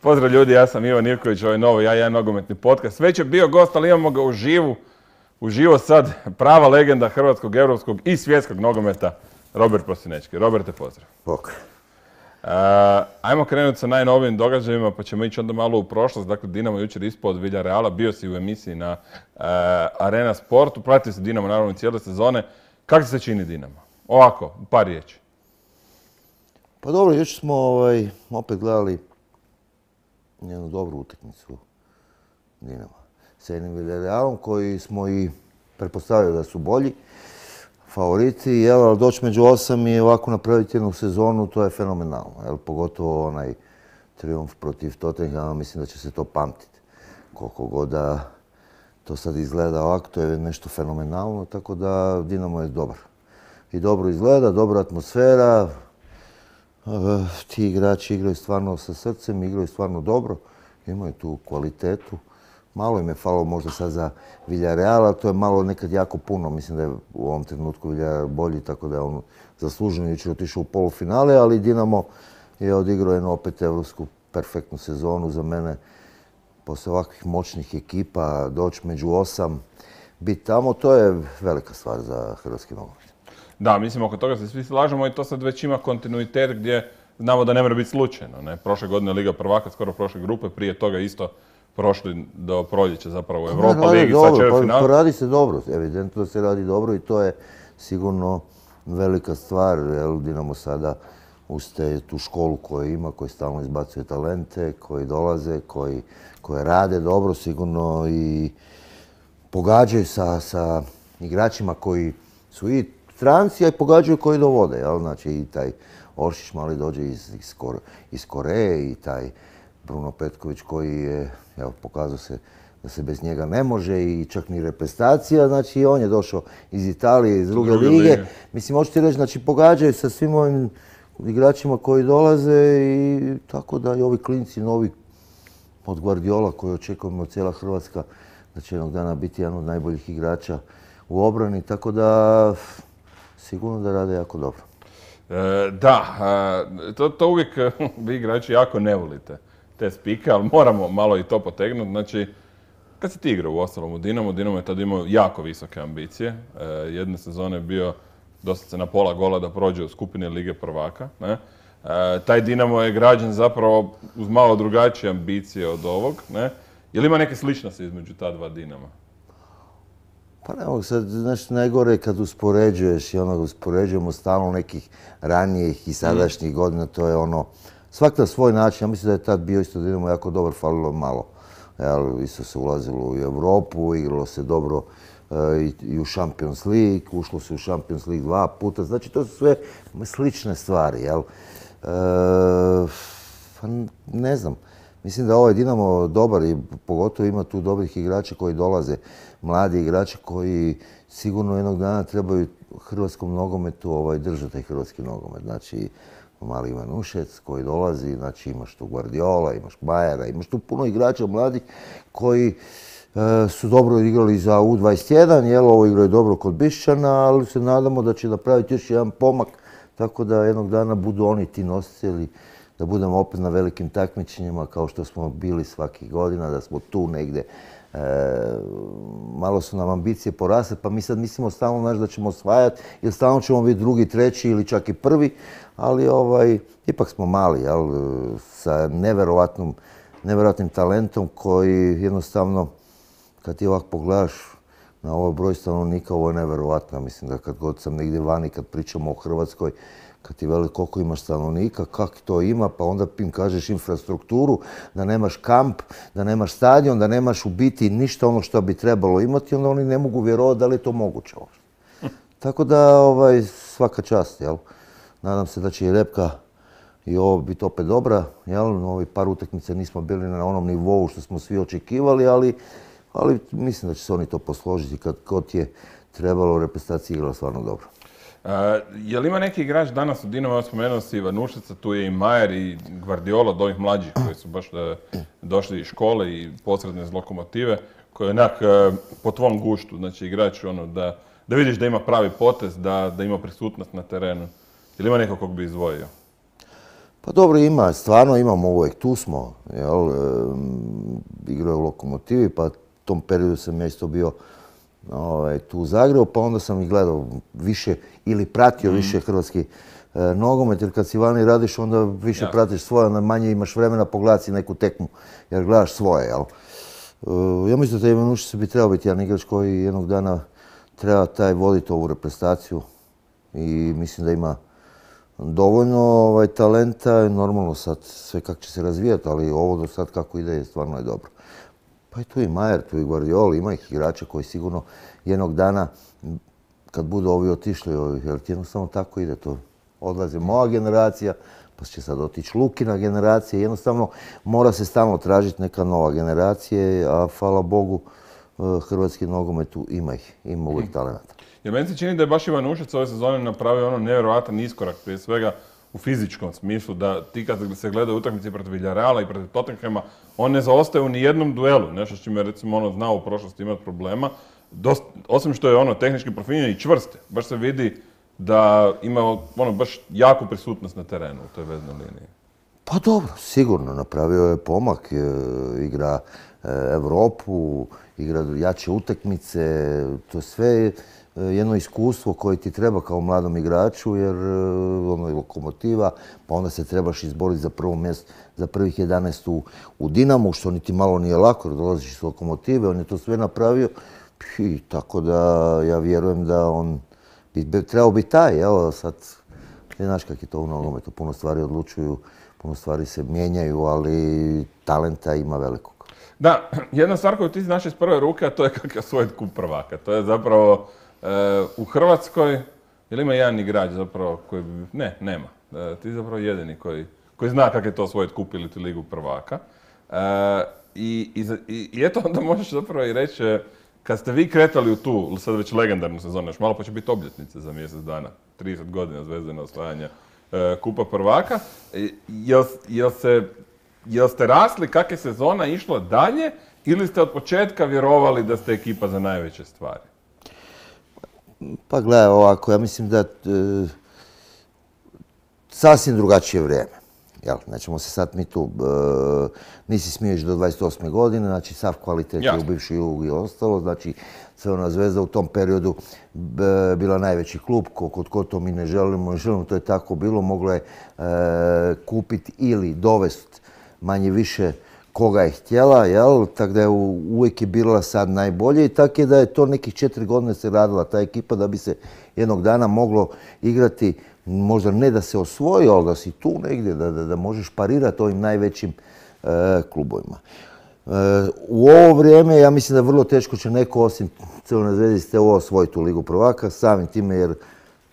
Pozdrav ljudi, ja sam Ivan Ivković, ovo je novo Ja nogometni podcast. Već je bio gost, ali imamo ga uživo sad, prava legenda hrvatskog, europskog i svjetskog nogometa, Robert Prosinečki. Roberte, pozdrav. Bok. Ajmo krenuti sa najnovijim događajima, pa ćemo ići onda malo u prošlost. Dakle, Dinamo jučer ispao od Villareala, bio si u emisiji na Arena Sportu, pratio si Dinamo naravno cijele sezone. Kako se čini Dinamo? Ovako, par riječi. Pa dobro, jučer smo opet gledali jednu dobru utakmicu Dinama. S jednim Villarealom koji smo i pretpostavili da su bolji favoriti, ali doći među 8 i ovako napraviti jednu sezonu, to je fenomenalno. Pogotovo onaj trijumf protiv Tottenhama, mislim da će se to pamtiti. Koliko god da to sad izgleda ovako, to je nešto fenomenalno, tako da Dinamo je dobar. I dobro izgleda, dobra atmosfera, ti igrači igraju stvarno sa srcem, igraju stvarno dobro, imaju tu kvalitetu. Malo im je falilo možda sad za Villareal, ali to je malo nekad jako puno. Mislim da je u ovom trenutku Villareal bolji, tako da je on zasluženo jučer otišao u polufinale, ali Dinamo je odigrao jednu opet evropsku perfektnu sezonu za mene. Posle ovakvih moćnih ekipa, doći među 8, biti tamo, to je velika stvar za hrvatski nogomet. Da, mislim, oko toga se svi slažemo i to sad već ima kontinuitet gdje znamo da ne mora biti slučajno. Ne? Prošle godine Liga prvaka, skoro prošle grupe, prije toga isto prošli do proljeća zapravo u Europa ligi, sad četvrtfinale. Pa radi se dobro, evidentno da se radi dobro i to je sigurno velika stvar, jer Dinamo sada uz tu školu koju ima, koji stalno izbacuje talente, koji dolaze, koji rade dobro sigurno i pogađaju sa igračima koji su i stranci, a i pogađaju koji dovode. Znači i taj Oršić mali dođe iz Koreje i taj Bruno Petković koji je, pokazao se da se bez njega ne može i čak ni reprezentacija, znači on je došao iz Italije, iz druge lige. Mislim, možete reći, znači pogađaju sa svim ovim igračima koji dolaze i tako da i ovi klinci novi od Guardiola koji očekujemo cijela Hrvatska da će jednog dana biti jedan od najboljih igrača u obrani, tako da sigurno da rade jako dobro. To uvijek vi igrači jako ne volite te spike, ali moramo malo i to potegnuti. Znači, kad si ti igrao u ostalom u Dinamo je tada imao jako visoke ambicije. Jedne sezone je bio doslovce na pola gola da prođe u skupine Lige prvaka. Ne? Taj Dinamo je građen zapravo uz malo drugačije ambicije od ovog. Ne? Je li ima neke sličnosti između ta dva Dinama? Pa ne mogu sad, znači najgore kad uspoređuješ i uspoređujemo stalno nekih ranijih i sadašnjih godina, to je svak na svoj način. Ja mislim da je tad bio isto Dinamo jako dobar, falilo malo. Isto se ulazilo u Europu, igralo se dobro i u Champions League, ušlo se u Champions League 2 puta. Znači to su sve slične stvari. Ne znam. Mislim da ovaj Dinamo dobar i pogotovo ima tu dobrih igrača koji dolaze, mladi igrači koji sigurno jednog dana trebaju hrvatskom nogometu držati taj hrvatski nogomet. Znači, mali Ivan Ušec koji dolazi, znači imaš tu Guardiola, imaš Bajera, imaš tu puno igrača mladih koji su dobro igrali za U21, ovo igraju dobro kod Bišćana, ali se nadamo da će napraviti još jedan pomak, tako da jednog dana budu oni ti nositelji, da budemo opet na velikim takmičenjima kao što smo bili svakih godina, da smo tu negdje. Malo su nam ambicije porasle, pa mi sad mislimo stalno da ćemo osvajati ili stalno ćemo biti drugi, treći ili čak i prvi, ali ipak smo mali, sa neverovatnim talentom koji jednostavno, kad ti ovako pogledaš na ovaj broj stanovnika, ovo je neverovatno. Mislim da kad god sam negdje vani, kad pričamo o Hrvatskoj, kad ti veli koliko imaš stanovnika, kak to ima, pa onda im kažeš infrastrukturu, da nemaš kamp, da nemaš stadion, da nemaš u biti ništa ono što bi trebalo imati, onda oni ne mogu vjerovati da li je to moguće. Tako da svaka čast, Nadam se da će i Repka i ovo biti opet dobra, Ovi par utakmica nismo bili na onom nivou što smo svi očekivali, ali mislim da će se oni to posložiti kad god je trebalo, reprezentacija igrala stvarno dobro. Je li ima neki igrač danas u Dinamo, spomenuo si Ivanušeca, tu je i Majer i Guardiola od ovih mlađih koji su baš došli iz škole i posredne iz Lokomotive, koji je onak po tvom guštu, znači igrač da vidiš da ima pravi potez, da ima prisutnost na terenu. Je li ima nekog kog bi izdvojio? Pa dobro ima, stvarno imamo uvijek, tu smo, igrao u Lokomotivi, pa u tom periodu sam ja isto bio tu u Zagrebu, pa onda sam i gledao više ili pratio više hrvatski nogomet, jer kad si vani radiš onda više pratiš svoje, onda manje imaš vremena pogledati neku tekmu, jer gledaš svoje, jel? Ja mislim da Ivan Ušić bi trebao biti jedan igrač koji jednog dana treba voditi ovu reprezentaciju i mislim da ima dovoljno talenta, normalno sad sve kako će se razvijati, ali ovo do sad kako ide stvarno je dobro. Pa i tu i Majer, tu i Guardiola, ima ih igrača koji sigurno jednog dana kad budu ovi otišli, jer jednostavno tako ide to. Odlazi moja generacija, pa će sad otići Lukina generacija, jednostavno mora se stalno tražiti neka nova generacija, a hvala Bogu hrvatski nogometu ima ih, ima uvijek talenata. Jer meni se čini da je baš Ivan Ušić ove sezone napravio nevjerojatan iskorak, prije svega u fizičkom smislu, da ti kad se gledaju utakmice protiv Villarreala i protiv Tottenhama, on ne zaostaje u nijednom duelu, nešto s čime recimo znao u prošlosti imati problema. Osim što je tehnički profiljen i čvrst, baš se vidi da ima baš jaku prisutnost na terenu u toj veznoj liniji. Pa dobro, sigurno, napravio je pomak, igra Evropu, igra jače utakmice, to sve jedno iskustvo koje ti treba kao mladom igraču, jer ono je Lokomotiva, pa onda se trebaš izboriti za prvo mjesto, za prvih 11 u Dinamu, što niti malo nije lako, jer dolaziš iz Lokomotive, on je to sve napravio i tako da ja vjerujem da on bi trebao biti taj, evo sad, ne znaš kak je to u nogometu, puno stvari odlučuju, puno stvari se mijenjaju, ali talenta ima velikog. Da, jedna stvar koju ti znaš iz prve ruke, a to je kakav svoj kup prvaka. To je zapravo u Hrvatskoj, jel ima jedan igrač zapravo koji bi... Ne, nema. Ti si zapravo jedini koji zna kak je to svoj kup ili ti ligu prvaka. I eto onda možeš zapravo i reći, kad ste vi kretali u tu, sad već legendarnu sezonu, još malo pa će biti obljetnice za mjesec dana, 30 godina Zvezdina osvajanja kupa prvaka, jel ste rasli kak je sezona išla dalje ili ste od početka vjerovali da ste ekipa za najveće stvari? Pa gledaj ovako, ja mislim da sasvim drugačije vrijeme. Jel, nećemo se sad mi tu, nisi smiješ do 28. godine, znači sav kvalitet je u bivši jug i ostalo, znači Crvena Zvezda u tom periodu bila najveći klub, kod to mi ne želimo, to je tako bilo, moglo je kupiti ili dovesti manje više koga je htjela, jel, tako da je uvijek je bila sad najbolje i tako je da je to nekih 4 godine se radila ta ekipa da bi se jednog dana moglo igrati, možda ne da se osvoji, ali da si tu negdje, da možeš parirati ovim najvećim klubovima. U ovo vrijeme ja mislim da vrlo teško će neko osim Crvene Zvezde osvojiti tu ligu prvaka, samim time jer...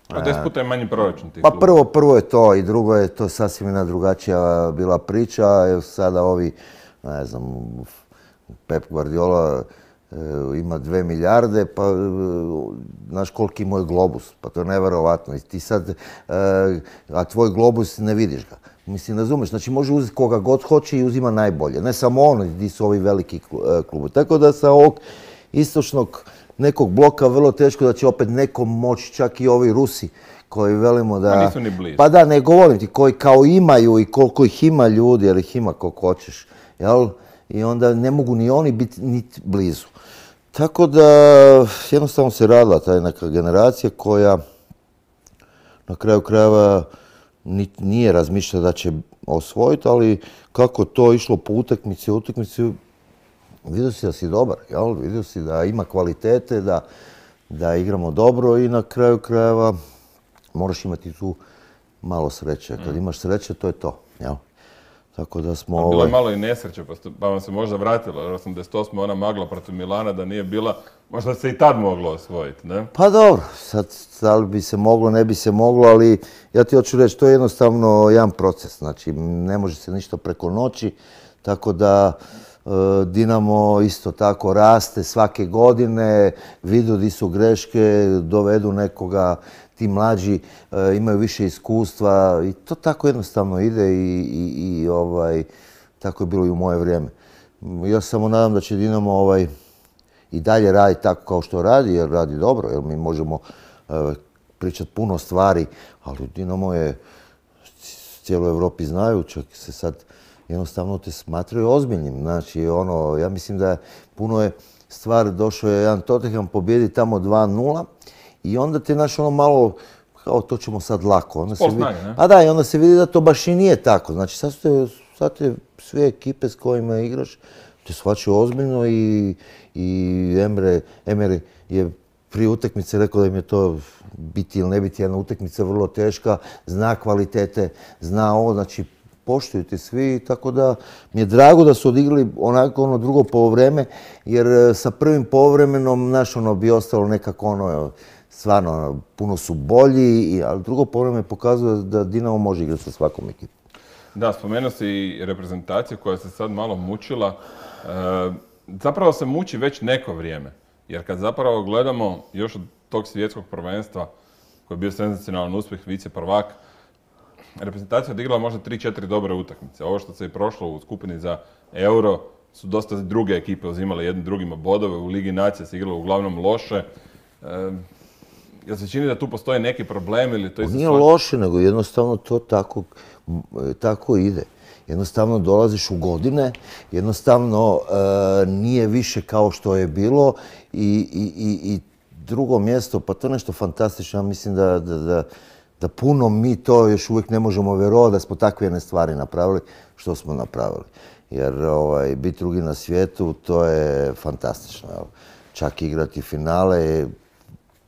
A 10 puta je manji proračun tih kluba. Pa prvo je to i drugo je to sasvim jedna drugačija bila priča, jer sada ovi, ne znam, Pep Guardiola ima 2 milijarde, pa znaš koliki je moj globus, pa to je nevjerovatno. I ti sad, a tvoj globus ne vidiš ga. Mislim, razumeš, znači može uzeti koga god hoće i uzima najbolje. Ne samo ono, gdje su ovi veliki klubovi. Tako da sa ovog istočnog nekog bloka vrlo teško da će opet neko moći, čak i ovi Rusi koji velimo da... Pa nisu ni blizu. Pa da, ne govorim ti, koji kao imaju i koliko ih ima ljudi, jer ih ima koliko hoćeš, jel? I onda ne mogu ni oni biti niti blizu. Tako da jednostavno se radila ta neka generacija koja na kraju krajeva nije razmišljala da će osvojiti, ali kako to išlo po utakmici, vidio si da si dobar, jel? Vidio si da ima kvalitete, da igramo dobro i na kraju krajeva moraš imati tu malo sreće. Kad imaš sreće, to je to, jel? Tako da smo... Bilo je malo i nesreće, pa vam se možda vratilo. 88. ona magla protiv Milana da nije bila, možda se i tad moglo osvojiti, ne? Pa dobro, sad da li bi se moglo, ne bi se moglo, ali ja ti hoću reći, to je jednostavno jedan proces. Znači, ne može se ništa preko noći, tako da Dinamo isto tako raste svake godine, vidu di su greške, dovedu nekoga, ti mlađi imaju više iskustva i to tako jednostavno ide i tako je bilo i u moje vrijeme. Ja samo nadam da će Dinamo i dalje raditi tako kao što radi, jer radi dobro, jer mi možemo pričati puno stvari, ali Dinamo je cijeloj Europi znaju, čak se sad jednostavno te smatraju ozbiljnim. Znači, ja mislim da puno je stvar, došao je jedan Tottenham, pobjedi tamo 2:0 i onda te malo, kao to ćemo sad lako. Spol snage, ne? A da, i onda se vidi da to baš i nije tako. Znači, sad te sve ekipe s kojima igraš te shvaćaju ozbiljno i Emery je prije utakmice rekao da im je to biti ili ne biti jedna utakmica vrlo teška, zna kvalitete, zna ovo, znači poštuju te svi, tako da mi je drago da su odigrali onako drugo poluvreme, jer sa prvim poluvremenom bi ostalo nekako stvarno puno su bolji, ali drugo poluvreme pokazuje da Dinamo može igrati sa svakom ekipom. Da, spomenuo si i reprezentaciju koja se sad malo mučila. Zapravo se muči već neko vrijeme. Jer kad zapravo gledamo još od tog svjetskog prvenstva, koji je bio senzacionalan uspjeh, vice prvak, reprezentacija odigrala možda 3-4 dobre utakmice. Ovo što se je prošlo u skupini za Euro su dosta druge ekipe uzimale jednim drugima bodove. U Ligi nacija se igralo uglavnom loše. Jel se čini da tu postoji neki problem ili to nije loše, nego jednostavno to tako ide. Jednostavno dolaziš u godine, jednostavno nije više kao što je bilo i drugo mjesto, pa to je nešto fantastično. Ja mislim da puno mi to još uvijek ne možemo vjerovati da smo takve jedne stvari napravili što smo napravili. Jer biti drugi na svijetu, to je fantastično. Čak igrati finale,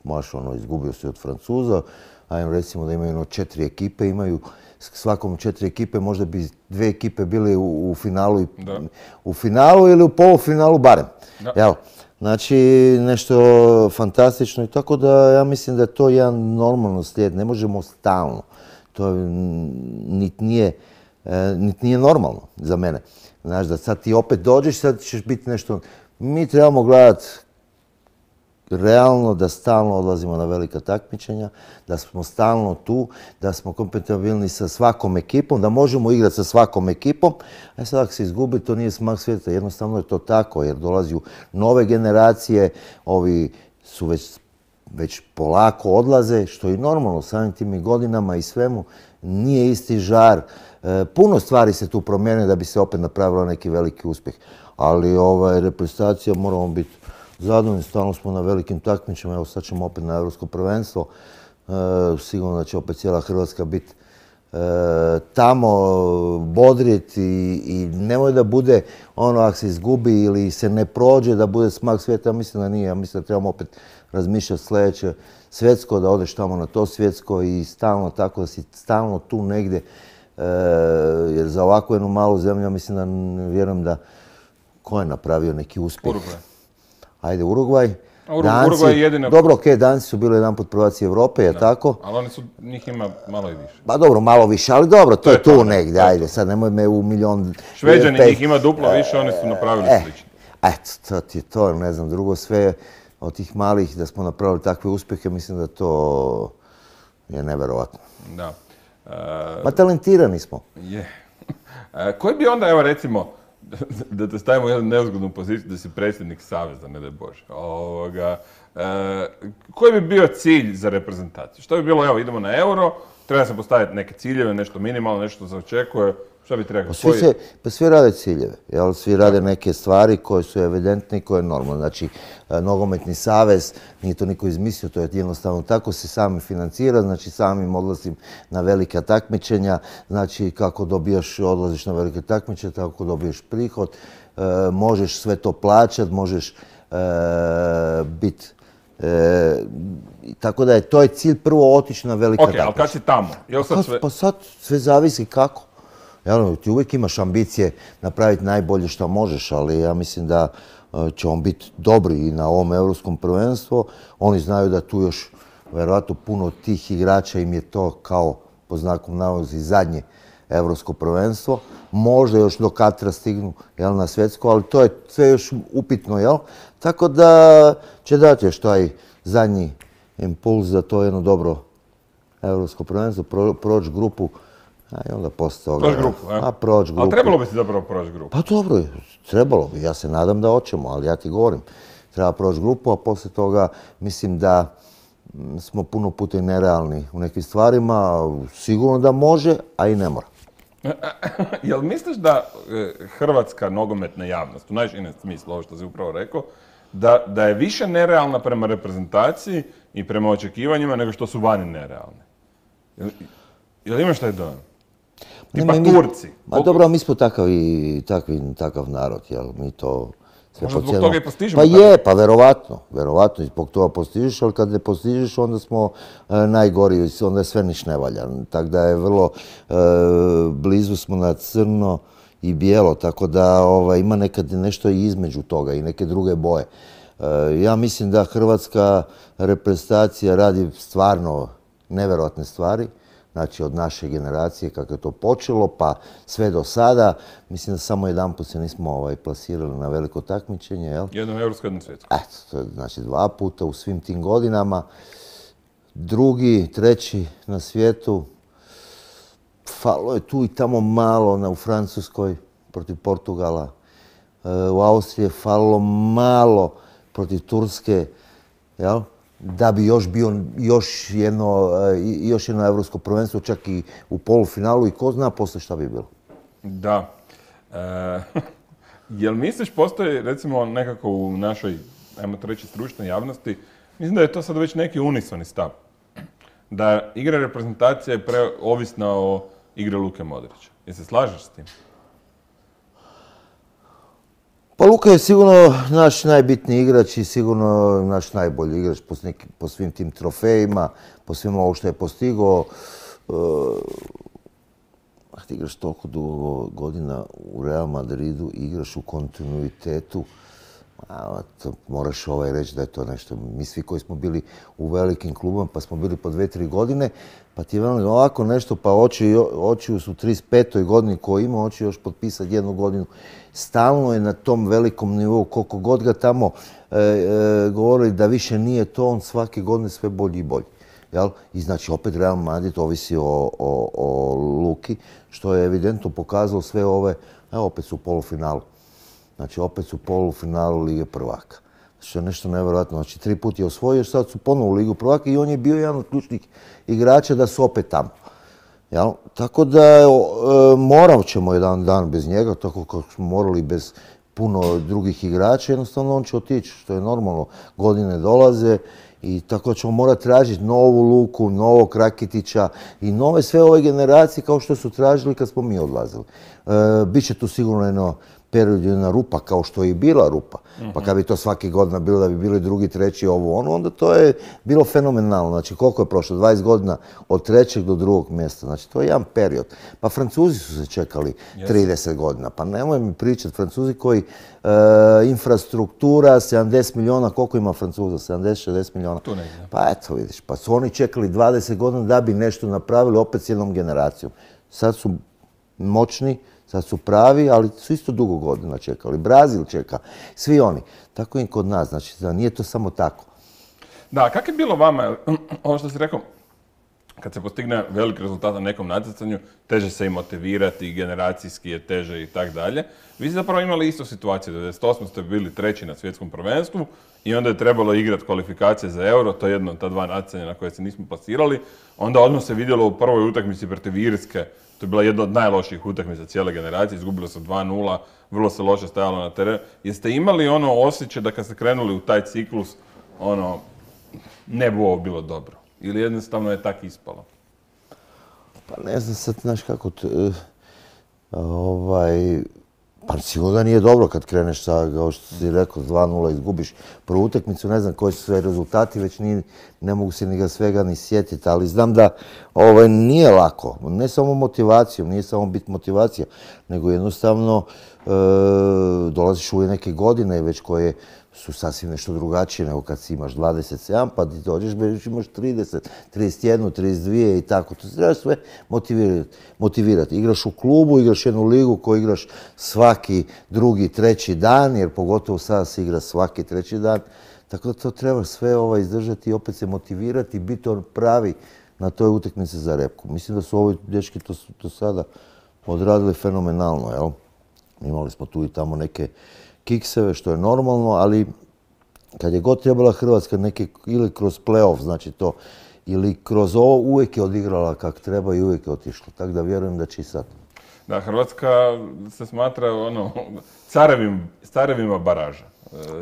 možeš izgubio si od Francuza, ajmo recimo da imaju 4 ekipe, imaju svakom 4 ekipe, možda bi 2 ekipe bili u finalu ili u polufinalu barem. Znači, nešto fantastično i tako da ja mislim da je to jedan normalno slijed. Ne možemo stalno. To niti nije normalno za mene. Znaš, da sad ti opet dođeš, sad ćeš biti nešto... Mi trebamo gledati realno da stalno odlazimo na velika takmičenja, da smo stalno tu, da smo kompatibilni sa svakom ekipom, da možemo igrati sa svakom ekipom. A sad ako se izgubi, to nije smak svijeta. Jednostavno je to tako, jer dolazi nove generacije, ovi su već polako odlaze, što je normalno samim tim i godinama i svemu. Nije isti žar. Puno stvari se tu promijene da bi se opet napravilo neki veliki uspjeh. Ali reprezentacija moramo biti zadovoljni, stalno smo na velikim takmičama, evo sad ćemo opet na Europsko prvenstvo. Sigurno da će opet cijela Hrvatska biti tamo, bodriti i nemoj da bude ako se izgubi ili se ne prođe, da bude smak svijeta. Ja mislim da nije, ja mislim da trebamo opet razmišljati sljedeće svjetsko, da odeš tamo na to svjetsko i stalno tako, da si stalno tu negdje. Jer za ovakvu jednu malu zemlju, mislim da ne vjerujem da ko je napravio neki uspjeh. Ajde, Urugvaj. Urugvaj je jedina... Dobro, okej, Danci su bili jedanput prvaci Evrope, je tako? Ali njih ima malo i više. Pa dobro, malo više, ali dobro, to je tu negdje, ajde, sad nemoj me u milion... Šveđani njih ima duplo više, oni su napravili slično. Eto, to ti je to, ne znam, drugo sve od tih malih, da smo napravili takve uspjehe, mislim da to je neverovatno. Da. Ma talentirani smo. Je. Koji bi onda, evo recimo, da te stavimo u jednu neuzgodnu poziciju da si predsjednik Saveza, ne daj Bože. Koji bi bio cilj za reprezentaciju? Što bi bilo, evo, idemo na Euro, treba se postaviti neke ciljeve, nešto minimalno, nešto se očekuje. Šta bi trebalo? Pa svi rade ciljeve, svi rade neke stvari koje su evidentne i koje je normalno. Znači, Nogometni savez, nije to niko izmislio, to je jednostavno tako, se sami financira, znači samim odlazim na velika takmičenja, znači kako odlaziš na velike takmičenja, tako dobiješ prihod, možeš sve to plaćati, možeš biti... Tako da to je cilj prvo otići na velika takmičenja. Ali kad si tamo? Pa sad sve zavisi kako. Ti uvijek imaš ambicije napraviti najbolje što možeš, ali ja mislim da će on biti dobri i na ovom Europskom prvenstvu. Oni znaju da tu još vjerojatno puno tih igrača im je to kao po znakom navoda i zadnje Europsko prvenstvo. Možda još do Katra stignu na svjetsko, ali to je sve još upitno. Tako da će dati još taj zadnji impuls za to jedno dobro Europsko prvenstvo, proći grupu. I onda poslije toga... Proći grupu, proći grupu. Ali trebalo bi si zapravo proći grupu. Pa dobro, trebalo bi. Ja se nadam da hoćemo, ali ja ti govorim. Treba proći grupu, a poslije toga mislim da smo puno puta i nerealni u nekim stvarima. Sigurno da može, a i ne mora. Jel misliš da hrvatska nogometna javnost, u najširem smislu, ovo što si upravo rekao, da je više nerealna prema reprezentaciji i prema očekivanjima nego što su vani nerealne? Jel imaš taj dojam? Tipa Turci. Ma dobro, mi smo takav narod, jel? Mi to sve možda zbog toga i postižemo. Pa je, pa verovatno i zbog toga postižeš, ali kad ne postižeš onda smo najgori, onda je sve niš ne valja. Tako da je vrlo blizu smo na crno i bijelo, tako da ima nekad nešto i između toga i neke druge boje. Ja mislim da hrvatska reprezentacija radi stvarno neverovatne stvari. Znači od naše generacije kako je to počelo pa sve do sada. Mislim da samo jedanput se nismo plasirali na veliko takmičenje. Jel? Jednom evropsko, jednom svjetsko. Eto, to je znači 2 puta u svim tim godinama. Drugi, treći na svijetu. Falo je tu i tamo malo u Francuskoj protiv Portugala. U Austriji je falilo malo protiv Turske. Jel? Da bi još jedno evropsko prvenstvo, čak i u polufinalu i ko zna posle šta bi bilo. Da. Jel misliš postoji recimo nekako u našoj, ajmo to reći, stručnoj javnosti, mislim da je to sad već neki unisoni stav, da igra reprezentacija je preovisna o igre Luke Modrića. Jel se slažeš s tim? Pa Luka je sigurno naš najbitniji igrač i sigurno naš najbolji igrač po svim tim trofejima, po svim ovo što je postigao. Ti igraš toliko dugo godina u Real Madridu, igraš u kontinuitetu. Moraš reći da je to nešto. Mi svi koji smo bili u velikim klubama, pa smo bili po 2-3 godine, pa ti je ovako nešto, pa oči su 35. godini koji ima, hoće još potpisati 1 godinu. Stalno je na tom velikom nivou, koliko god ga tamo govorili da više nije to, on svake godine sve bolji i bolji. I znači opet Real Madrid ovisi o Luki, što je evidentno pokazalo sve ove, evo opet su u polufinalu. Znači opet su u polufinalu Lige prvaka. Što je nešto nevjerojatno. Znači 3 puta je osvojio, sad su ponovo u Ligu prvaka i on je bio jedan od ključnih igrača da su opet tamo. Tako da morat ćemo jedan dan bez njega, tako kako smo morali bez puno drugih igrača, jednostavno on će otići, što je normalno. Godine dolaze i tako da ćemo morati tražiti novu Luku, novog Rakitića i nove sve ove generacije kao što su tražili kad smo mi odlazili. Biće tu sigurno jedno period, jedna rupa, kao što je i bila rupa. Pa kad bi to svake godine bilo da bi bili drugi, treći, ovo, ono, onda to je bilo fenomenalno. Znači, koliko je prošlo? 20 godina od 3. do 2. mjesta. Znači, to je jedan period. Pa Francuzi su se čekali 30 godina. Pa nemoj mi pričati, Francuzi koji infrastruktura, 70 miliona, koliko ima Francuza? 70-60 miliona. Pa eto, vidiš, pa su oni čekali 20 godina da bi nešto napravili opet s jednom generacijom. Sad su moćni, sad su pravi, ali su isto dugo godina čekali. Brazil čeka, svi oni. Tako i kod nas, znači nije to samo tako. Da, kako je bilo vama, ovo što si rekao, kad se postigne velik rezultat na nekom natjecanju, teže se i motivirati, generacijski je teže i tak dalje. Vi ste zapravo imali istu situaciju, 98. ste bili 3. na svjetskom prvenstvu i onda je trebalo igrati kvalifikacije za Euro, to je jedno od ta 2 natjecanja na koje se nismo plasirali. Onda odmah se vidjelo u prvoj utakmici protiv Irske. To je bila jedna od najlošijih utakmica cijele generacije, izgubilo se 2-0, vrlo se loše stajalo na terenu. Jeste imali ono osjećaj da kad ste krenuli u taj ciklus, ne bi ovo bilo dobro? Ili jednostavno je tak ispalo? Pa ne znam sad, znaš kako, pa sigurno da nije dobro kad kreneš sa, kao što si rekao, 2-0 izgubiš prvu utakmicu, ne znam koji su sve rezultati, već ne mogu se ni ga svega ni sjetiti, ali znam da nije lako, ne samo motivacijom, nije samo bit motivacija, nego jednostavno dolaziš u neke godine već koje su sasvim nešto drugačije nego kad si imaš 27, pa ti dođeš već imaš 30, 31, 32 i tako. To se treba sve motivirati. Igraš u klubu, igraš jednu ligu koju igraš svaki drugi, treći dan, jer pogotovo sada se igra svaki treći dan. Tako da to treba sve izdržati i opet se motivirati i biti pravi na toj utakmici za repku. Mislim da su ovi dečki to sada odradili fenomenalno, jel? Imali smo tu i tamo neke kikseve, što je normalno, ali kad je god trebala Hrvatska ili kroz play-off, znači to, ili kroz ovo, uvijek je odigrala kako treba i uvijek je otišla. Tako da vjerujem da će i sad. Da, Hrvatska se smatra carevima baraža.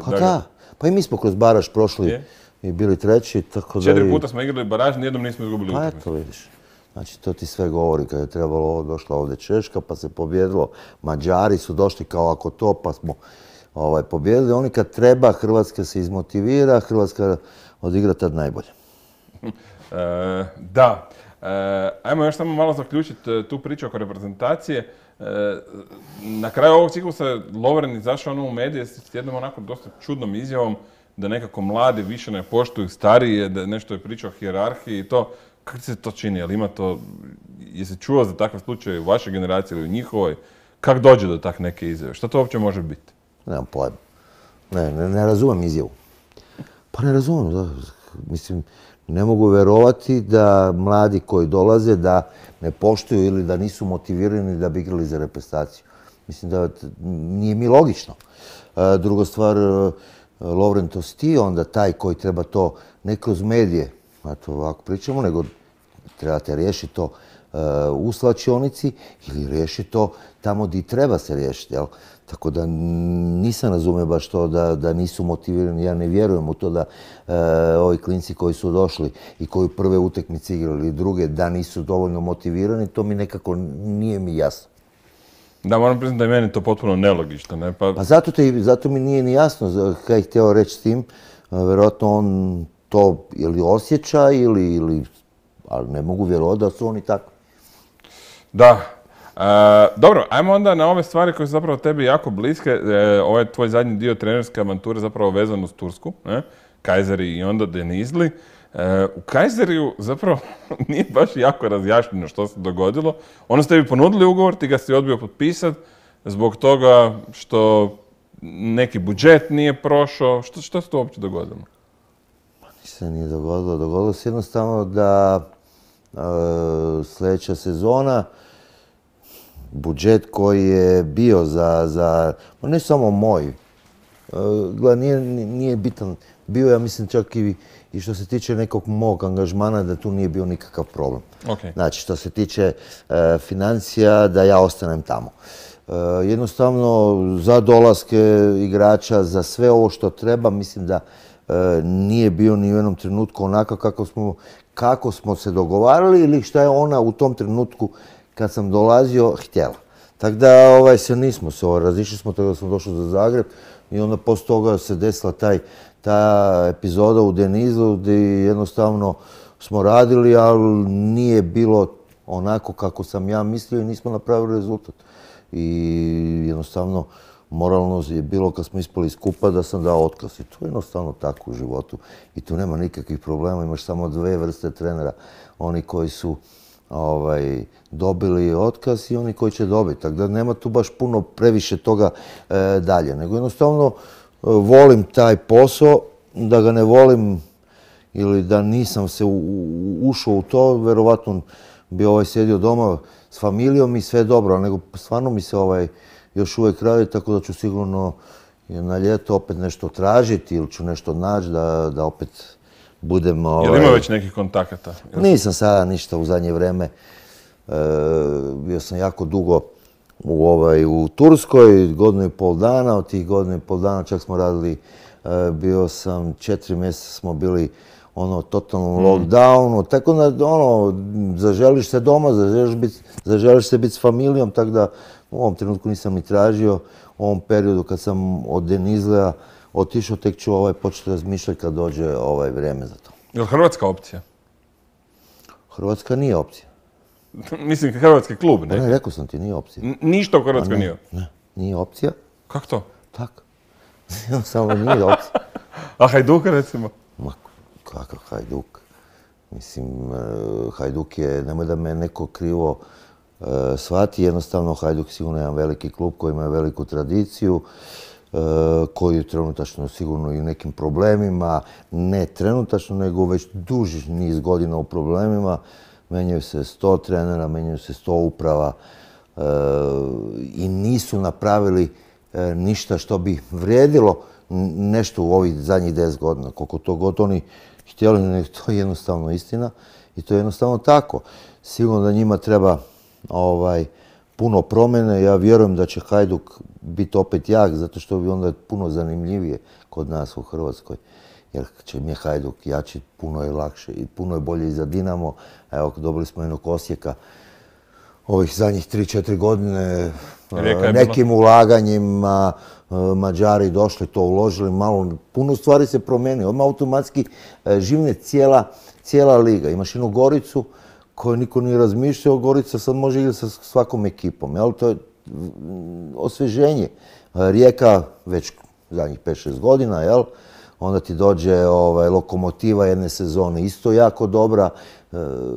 Pa da, pa i mi smo kroz baraž prošli i bili treći, tako da... 4 puta smo igrali baraž, nijednom nismo izgubili Pa utakmicu. eto vidiš. Znači, to ti sve govori. Kad je trebalo, došla ovdje Češka, pa se pobjedilo. Mađari su došli kao ako to, pa smo pobjedili. Oni kad treba, Hrvatska se izmotivira, Hrvatska odigra tad najbolje. Da. Ajmo još samo malo zaključiti tu priču oko reprezentacije. Na kraju ovog ciklusa Lovren izašao u medije s jednom onako dosta čudnom izjavom da nekako mladi više ne poštuju starije, da nešto je pričao o hijerarhiji i to. Kako se to čini? Jel ima to, jesi čuo za takav slučaj u vašoj generaciji ili u njihovoj? Kako dođe do tak neke izjave? Što to uopće može biti? Nemam pojma. Ne razumijem izjavu. Pa ne razumijem. Da. Mislim, ne mogu verovati da mladi koji dolaze da ne poštuju ili da nisu motivirani da bi igrali za reprezentaciju. Mislim da nije mi logično. Druga stvar, Lovren, to si ti onda taj koji treba to ne kroz medije, eto ovako pričamo, nego trebate riješiti to u slačionici ili riješiti to tamo gdje treba se riješiti. Jel? Tako da nisam razumio baš to da nisu motivirani. Ja ne vjerujem u to da ovi klinci koji su došli i koji prve utakmice igrali i druge da nisu dovoljno motivirani, to mi nekako nije mi jasno. Da, moram priznati da je meni to potpuno nelogično. Ne? Pa zato mi nije ni jasno kaj je htio reći s tim. Vjerojatno on to ili osjeća ili ali ne mogu vjerovati da su oni takvi. Da. Dobro, ajmo onda na ove stvari koje su zapravo tebi jako bliske. Ovaj tvoj zadnji dio trenerske avanture zapravo vezan uz Tursku. Kajzeri i onda Denizli. U Kajzeriju zapravo nije baš jako razjašnjeno što se dogodilo. Ono ste tebi ponudili ugovor, ti ga si odbio potpisati zbog toga što neki budžet nije prošao. Što se to uopće dogodilo? Se nije dogodilo. Dogodilo se jednostavno da sljedeća sezona budžet koji je bio za ne samo moj, nije bitan, bio ja mislim čak i što se tiče nekog mog angažmana da tu nije bio nikakav problem. Okay. Znači što se tiče financija da ja ostanem tamo. Jednostavno za dolaske igrača, za sve ovo što treba, mislim da nije bio ni u jednom trenutku onako kako smo se dogovarali ili šta je ona u tom trenutku kad sam dolazio htjela. Tako da se nismo razišli smo tako da sam došao za Zagreb i onda poslije toga se desila ta epizoda u Denizlu gdje jednostavno smo radili, ali nije bilo onako kako sam ja mislio i nismo napravili rezultat. I jednostavno moralno je bilo kad smo ispali iz kupa da sam dao otkaz. I to je jednostavno tako u životu. I tu nema nikakvih problema, imaš samo dve vrste trenera. Oni koji su dobili otkaz i oni koji će dobiti. Tako da nema tu baš puno previše toga dalje. Nego jednostavno volim taj posao, da ga ne volim ili da nisam se ušao u to, verovatno bi sjedio doma s familijom i sve dobro, nego stvarno mi se još uvijek radi, tako da ću sigurno na ljeto opet nešto tražiti ili ću nešto naći da opet budem... Jel ima već nekih kontakata? Nisam sada ništa u zadnje vrijeme. Bio sam jako dugo u Turskoj, godinu i pol dana. Od tih godinu i pol dana čak smo radili, bio sam 4 mjeseca smo bili totalnom lockdownu. Tako da zaželiš se doma, zaželiš se biti s familijom, tako da u ovom trenutku nisam ni tražio. U ovom periodu kad sam od Denizlea otišao, tek ću početi razmišljati kad dođe vrijeme za to. Je li Hrvatska opcija? Hrvatska nije opcija. Mislim, hrvatski klub, ne? Ne, rekao sam ti, nije opcija. Ništa u Hrvatskoj nije? Ne, nije opcija. Kako to? Tako. Samo nije opcija. A Hajduk, recimo? Ma, kakav Hajduk? Mislim, Hajduk je, nemoj da me neko krivo shvati, jednostavno Hajduk je sigurno jedan veliki klub koji ima veliku tradiciju, koji je trenutačno sigurno i u nekim problemima, ne trenutačno, nego već duži niz godina u problemima. Menjaju se 100 trenera, menjaju se 100 uprava i nisu napravili ništa što bi vrijedilo nešto u ovih zadnjih 10 godina. Koliko to god oni htjeli, to je jednostavno istina i to je jednostavno tako. Sigurno da njima treba puno promjene. Ja vjerujem da će Hajduk biti opet jak, zato što bi onda puno zanimljivije kod nas u Hrvatskoj. Jer će mi je Hajduk jači, puno je lakše i puno je bolje i za Dinamo. Evo, dobili smo jednog Osijeka ovih zadnjih 3-4 godine, nekim ulaganjima, Mađari došli, to uložili malo, puno stvari se promijeni. Odmah automatski živne cijela liga. Imaš jednu Goricu koju niko nije razmišljao, Gorica sad može igrati sa svakom ekipom. Jel? To je osvježenje. Rijeka već zadnjih 5-6 godina, jel? Onda ti dođe Lokomotiva jedne sezone, isto jako dobra.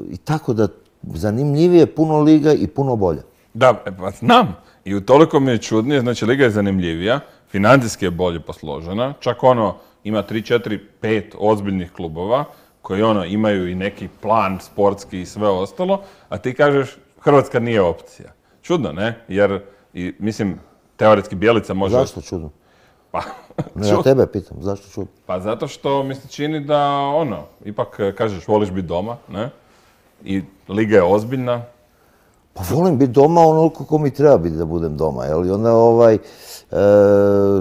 I tako da zanimljivije puno liga i puno bolje. Da, pa znam. I utoliko mi je čudnije, znači liga je zanimljivija, financijski je bolje posložena, čak ima 3, 4, 5 ozbiljnih klubova koji imaju i neki plan sportski i sve ostalo, a ti kažeš Hrvatska nije opcija. Čudno, ne? Jer, mislim, teoretski Bjelica može... Zašto čudno? Pa, ja tebe pitam, zašto čudno? Pa zato što mi se čini da, ipak kažeš voliš biti doma, ne? I liga je ozbiljna. Pa volim biti doma onoliko ko mi treba biti da budem doma. I onda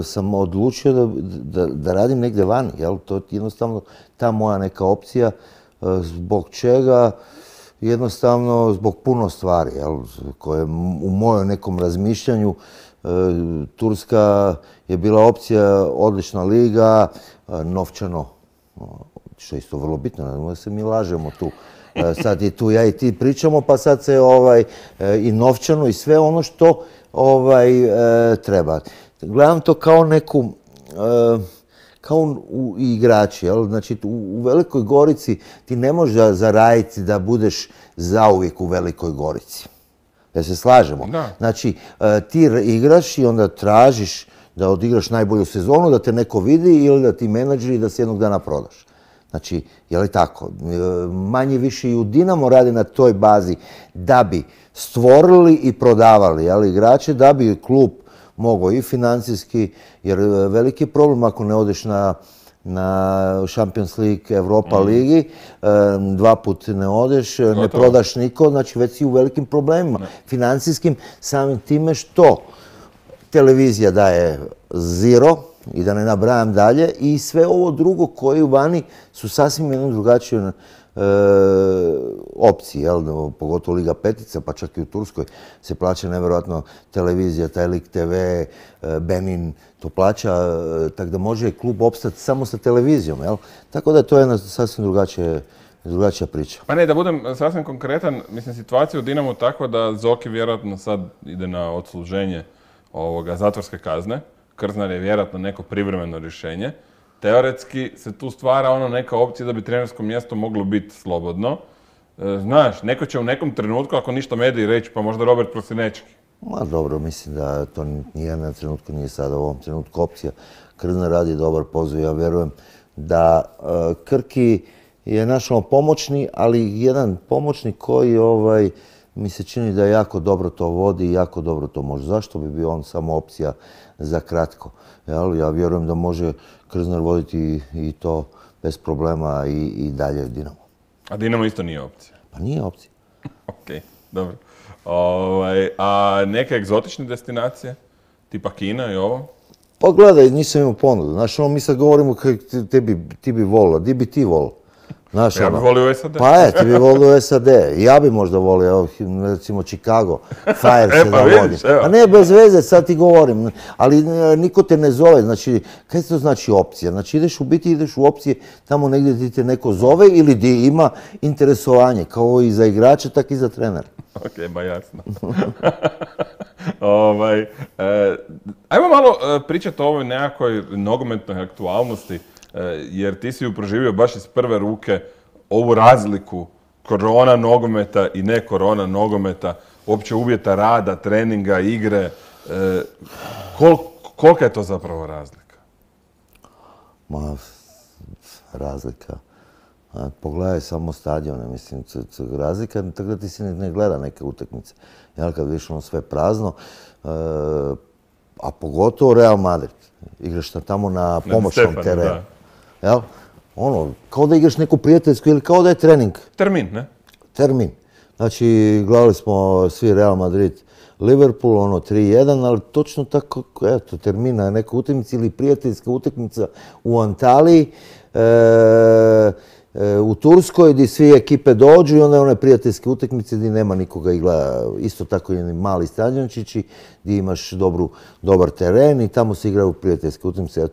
sam odlučio da radim negdje vani. To je jednostavno ta moja neka opcija. Zbog čega? Jednostavno zbog puno stvari koje u mojom nekom razmišljanju. Turska je bila opcija, odlična liga, novčano, što je isto vrlo bitno, da se mi lažemo tu. Sad i tu ja i ti pričamo, pa sad se i novčano i sve ono što treba. Gledam to kao neku, kao u igrači, znači u Velikoj Gorici ti ne možeš zaraditi da budeš zauvijek u Velikoj Gorici. Da se slažemo. Znači, ti igraš i onda tražiš da odigraš najbolju sezonu, da te neko vidi ili da ti menadžeri da se jednog dana prodaš. Znači, je li tako? Manje više i u Dinamo radi na toj bazi da bi stvorili i prodavali igrače, da bi klub mogao i financijski, jer veliki problem ako ne odeš na Champions League, Europa ligi, 2 put ne odeš, ne prodaš niko, znači već si u velikim problemima. Financijskim, samim time što televizija daje zero, i da ne nabrajam dalje, i sve ovo drugo koji vani su sasvim jednom drugačijoj opciji, pogotovo Liga Petica, pa čak i u Turskoj se plaća nevjerojatno televizija, taj Lig TV, Benin to plaća, tako da može klub opstati samo sa televizijom. Tako da to je jedna sasvim drugačija priča. Pa ne, da budem sasvim konkretan, mislim, situacija u Dinamu takva da Zoki vjerojatno sad ide na odsluženje zatvorske kazne. Krznar je vjerojatno neko privremeno rješenje. Teoretski se tu stvara neka opcija da bi trenersko mjesto moglo biti slobodno. Znaš, neko će u nekom trenutku, ako ništa mediji reći, pa možda Robert Prosinečki. Ma dobro, mislim da to nijedan trenutku nije sada u ovom trenutku opcija. Krznar radi dobar poziv, ja vjerujem da Krki je naš pomoćni, ali jedan pomoćnik koji mi se čini da jako dobro to vodi i jako dobro to može. Zašto bi bio on samo opcija za kratko? Ja vjerujem da može Krznar voditi i to bez problema i dalje Dinamo. A Dinamo isto nije opcija? Pa nije opcija. Ok, dobro. A neke egzotične destinacije? Tipa Kina i ovo? Pa gledaj, nisam imao ponudu. Znaš, mi sad govorimo ti bi volio, di bi ti volio? Ja bih volio SAD. Pa ti bi volio SAD. Ja bi možda volio, recimo, Chicago. Fire se da vodi. A ne, bez veze, sad ti govorim. Ali niko te ne zove. Znači, kaj to znači opcija? Znači, ideš u opcije tamo negdje ti te neko zove ili gdje ima interesovanje, kao i za igrače, tak i za trenera. Ok, ba jasno. Ajmo malo pričati o ovoj nekakvoj nogometnoj aktualnosti. Jer ti si ju proživio baš iz prve ruke ovu razliku korona nogometa i ne korona nogometa, uopće uvjeta rada, treninga, igre. Kolika je to zapravo razlika? Ma, razlika. Pogledaj samo stadione, mislim, razlika je tako da ti se ne gleda neke utakmice. Kad vidiš sve prazno, a pogotovo Real Madrid. Igraš tamo na pomoćnom terenu. Kao da igraš neku prijateljsku ili kao da je trening. Termin, ne? Termin. Znači, gledali smo svi Real Madrid, Liverpool, ono 3-1, ali točno tako, eto, termina neka utakmica ili prijateljska utakmica u Antaliji, u Turskoj gdje svi ekipe dođu i onda one prijateljske utakmice gdje nema nikoga i gleda. Isto tako i mali stadiončići gdje imaš dobar teren i tamo se igraju prijateljske utakmice, a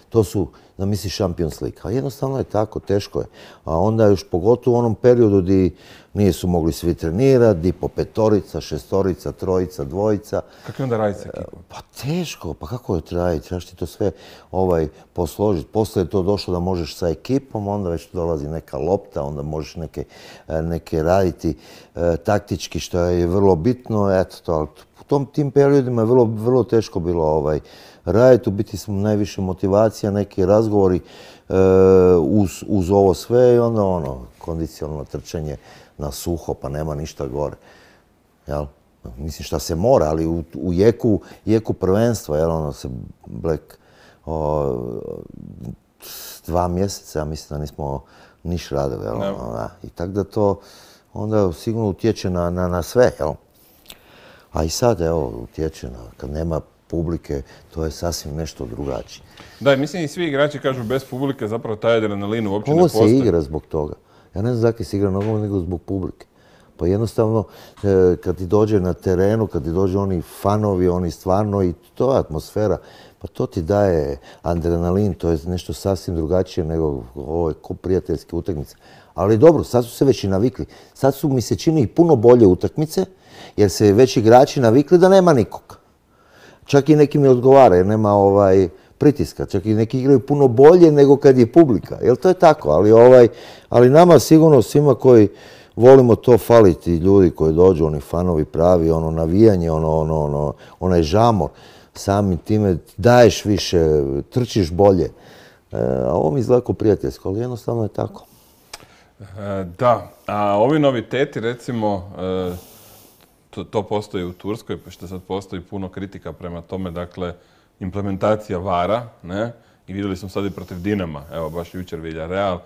to su, da misli, Champions League. A jednostavno je tako, teško je. A onda još pogotovo u onom periodu gdje nisu mogli svi trenirati, gdje po petorica, šestorica, trojica, dvojica. Kako je onda raditi s ekipom? Pa teško, pa kako je raditi? Trebaš ti to sve posložiti. Poslije je to došlo da možeš sa ekipom, onda već dolazi neka lopta, onda možeš neke raditi taktički, što je vrlo bitno. Eto to, u tim periodima je vrlo teško bilo raditi. U biti smo najviše motivacija, neki razgovori uz ovo sve i onda kondicionalno trčanje na suho, pa nema ništa gore. Jel? Mislim šta se mora, ali u jeku prvenstva, jel, se Black 2 mjeseca, ja mislim da nismo niš radili, jel, i tako da to onda sigurno utječe na sve, jel. A i sad, evo, utječe kad nema publike, to je sasvim nešto drugačije. Da, mislim i svi igrači kažu bez publike zapravo taj adrenalin uopće ne Ovo postoji. se igra zbog toga. Ja ne znam zakaj se igra nogomet nego zbog publike. Pa jednostavno, kad ti dođe na terenu, kad ti dođe oni fanovi, oni stvarno, i to je atmosfera, pa to ti daje adrenalin, to je nešto sasvim drugačije nego ove prijateljske utakmice. Ali dobro, sad su se već i navikli. Sad su, mi se čini, i puno bolje utakmice, jer se već igrači navikli da nema nikog. Čak i neki mi odgovara, jer nema pritiska. Čak i neki igraju puno bolje nego kad je publika. Jel to je tako? Ali nama sigurno, svima koji volimo to, faliti ljudi koji dođu, oni fanovi pravi, ono navijanje, onaj žamor. Samim time daješ više, trčiš bolje. A ovo mi izgleda kao prijateljsko, ali jednostavno je tako. Da, a ovi noviteti, recimo, to postoji u Turskoj, što sad postoji puno kritika prema tome, dakle, implementacija VAR-a, ne? I vidjeli smo sad i protiv Dinama, evo baš jučer Villarreal,